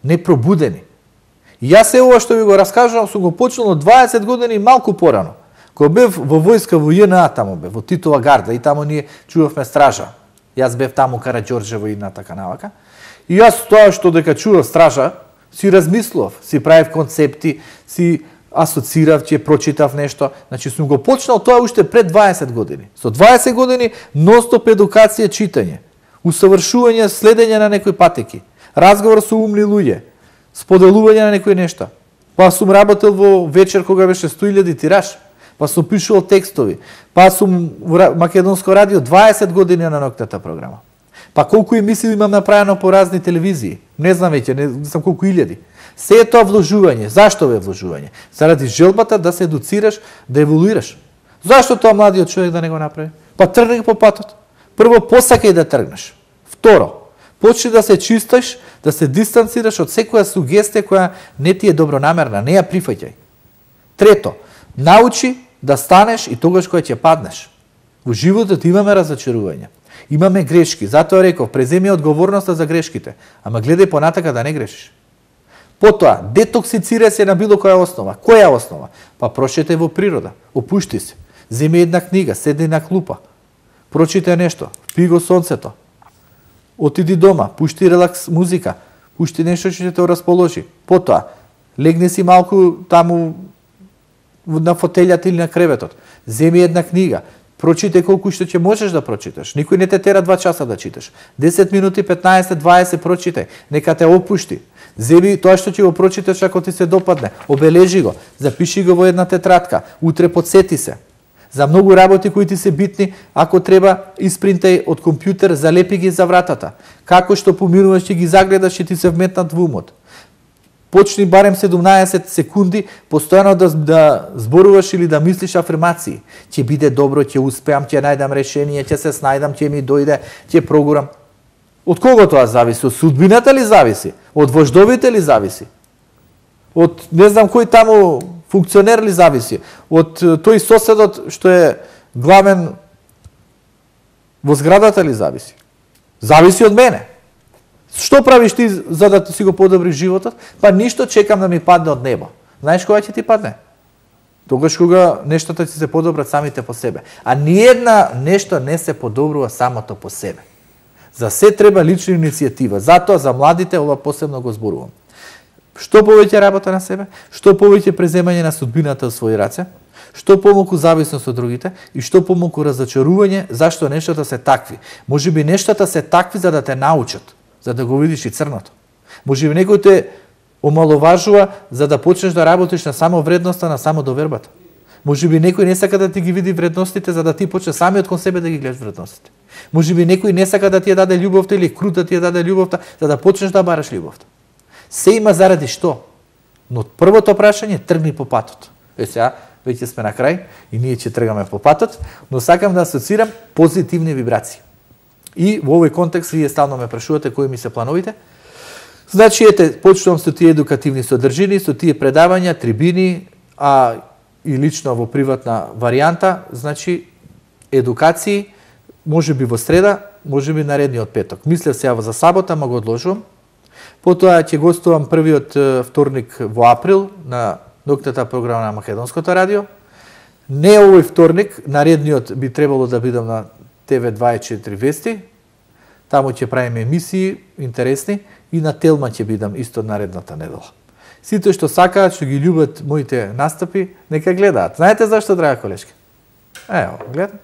непробудени. И јас е ова што ви го раскажувам, сум го почнал од 20 години малку порано. Кога бев во војска во ЈНА таму бев, во Титова гарда и таму ние чувавме стража. Јас бев таму Караѓорџево и на така навака. И јас тоа што дека чував стража, си размислував, си правив концепти, си асоцирав, ќе прочитав нешто. Значи сум го почнал тоа уште пред 20 години. Со 20 години ностоп едукација, читање, усавршување, следење на некои патеки, разговор со умни луѓе, споделување на некои нешта. Па сум работел во вечер кога беше 100.000 тираж, па сум пишувал текстови, па сум во Македонско радио 20 години на ноќната програма. Па колку емисии имам направено по разни телевизии, не знам веќе, не знам колку илјади. Се е тоа вложување. Зашто е вложување? Заради желбата да се едуцираш, да еволуираш. Зашто тоа младиот човек да не го направи? Па тргни по патот. Прво, посакај да тргнеш. Второ, почни да се чистиш, да се дистанцираш од секоја сугестија која не ти е добронамерна, не ја прифаќај. Трето, научи да станеш и тогаш кога ќе паднеш. Во животот имаме разочарување. Имаме грешки. Затоа реков, преземи одговорноста за грешките, ама гледај понатака да не грешиш. Потоа, детоксицирај се на било која основа. Која основа? Па прошетај во природа, опушти се. Земи една книга, седни на клупа. Прочитај нешто, пи го сонцето. Отиди дома, пушти релакс музика, пушти нешто што ќе те расположи. Потоа, легни си малку таму на фотелјата или на креветот. Земи една книга, прочитај колку што ќе можеш да прочиташ. Никој не те тера 2 часа да читаш. 10 минути, 15, 20 прочитај. Нека те опушти. Земи тоа што ќе го прочиташ ако ти се допадне. Обележи го, запиши го во една тетрадка. Утре подсети се. За многу работи кои ти се битни, ако треба, испринтај од компјутер, залепи ги за вратата. Како што поминуваш ќе ги загледаш и ти се вметнат во умот. Почни барем 17 секунди постојано да зборуваш или да мислиш афирмации. Ќе биде добро, ќе успеам, ќе најдам решение, ќе се снајдам, ќе ми дојде, ќе прогурам. Од кого тоа зависи? Од судбината ли зависи? Од вождовите ли зависи? Од не знам кој таму функционер ли зависи? Од тој соседот што е главен во зградата ли зависи? Зависи од мене. Што правиш ти за да си го подобриш животот? Па ништо, чекам да ми падне од небо. Знаеш кога ќе ти падне? Тогаш кога нештата ќе се подобрат самите по себе. А ниедна нешто не се подобрува самото по себе. За се треба лична иницијатива. Затоа за младите ова посебно го зборувам. Што повеќе работа на себе, што повеќе преземање на судбината во своји раце, што помалку зависност од другите и што помалку разочарување зашто нештата се такви. Можеби нештата се такви за да те научат, за да го видиш и црното. Можеби некој те омаловажува за да почнеш да работиш на само вредноста, на само довербата. Можеби некој не сака да ти ги види вредностите за да ти почнеш самиот кон себе да ги гледаш вредностите. Можеби некој не сака да ти ја даде љубовта или крут да ти ја даде љубовта за да почнеш да бараш љубовта. Се има заради што? Но првото прашање тргни по патот. Сега веќе сме на крај и ние ќе тргаме по патот, но сакам да асоцирам позитивни вибрации. И во овој контекст вие стално ме прашувате кои ми се плановите. Значи, почнувам со тие едукативни содржини, со тие предавања, трибини, и лично во приватна варијанта, значи, едукации, може би во среда, може би наредниот петок. Мислев сега за сабота, ма го одложувам. Потоа ќе гостувам првиот вторник во април на ноќната програма на Македонското радио. Не овој вторник, наредниот би требало да бидам на TV24 Вести. Таму ќе правиме емисии интересни и на Телма ќе бидам исто наредната недела. Сите што сакаат, што ги љубат моите настапи, нека гледаат. Знаете зашто, драга колешки? Ево, гледам.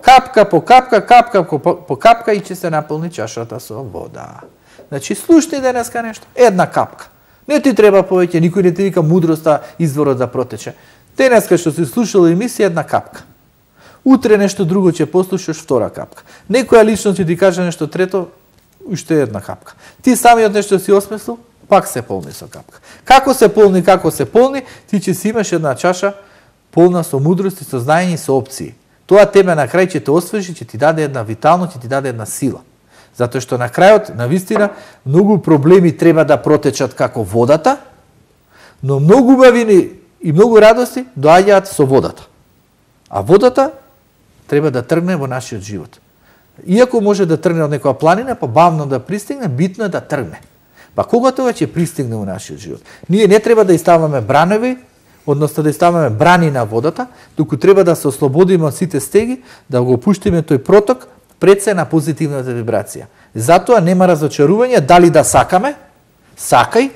Капка по капка, капка по капка и ќе се наполни чашата со вода. Значи, слушни денеска нешто. Една капка. Не ти треба повеќе, никој не ти вика мудроста изворот да протече. Денеска што си слушал емисија, една капка. Утре нешто друго ќе послушаш, втора капка. Некоја лично ќе ти каже нешто трето, уште една капка. Ти самиот нешто си осмислил, пак се полни со капка. Како се полни, ти ќе си имаш една чаша полна со мудрост и со знаење и со опции. Тоа тебе на крај ќе те освежи, ќе ти даде една виталност, ќе ти даде една сила. Затоа што на крајот, на вистина, многу проблеми треба да протечат како водата, но многу убавини и многу радости доаѓаат со водата. А водата треба да тргне во нашиот живот. Иако може да тргне од некоја планина, па бавно да пристигне, битно е да тргне. Па кога тоа ќе пристигне во нашиот живот? Ние не треба да иставаме бранови, односно да иставаме брани на водата, туку треба да се ослободиме од сите стеги, да го пуштиме тој проток пред се на позитивната вибрација. Затоа нема разочарување, дали да сакаме, сакај,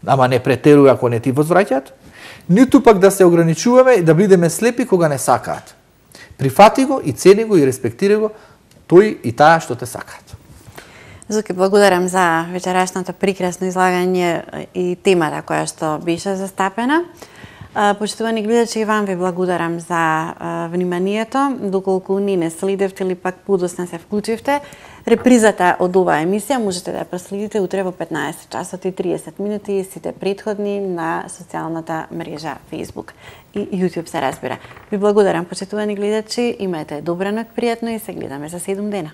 ама не претеруј ако не ти возвраќаат, ниту пак да се ограничуваме и да бидеме слепи кога не сакаат. Прифати го и цени го и респектирај го тој и таа што те сакаат. Зуки, благодарам за вечерашното прекрасно излагање и темата која што беше застапена. Почитувани гледачи, и вам ви благодарам за вниманието. Доколку не следевте или пак подоцна се вклучивте, репризата од оваа емисија можете да ја проследите утре во 15 часот и 30 минути и сите претходни на социјалната мрежа Facebook и YouTube се разбира. Ви благодарам, почитувани гледачи, имајте добра ноќ, пријатно и се гледаме за 7 дена.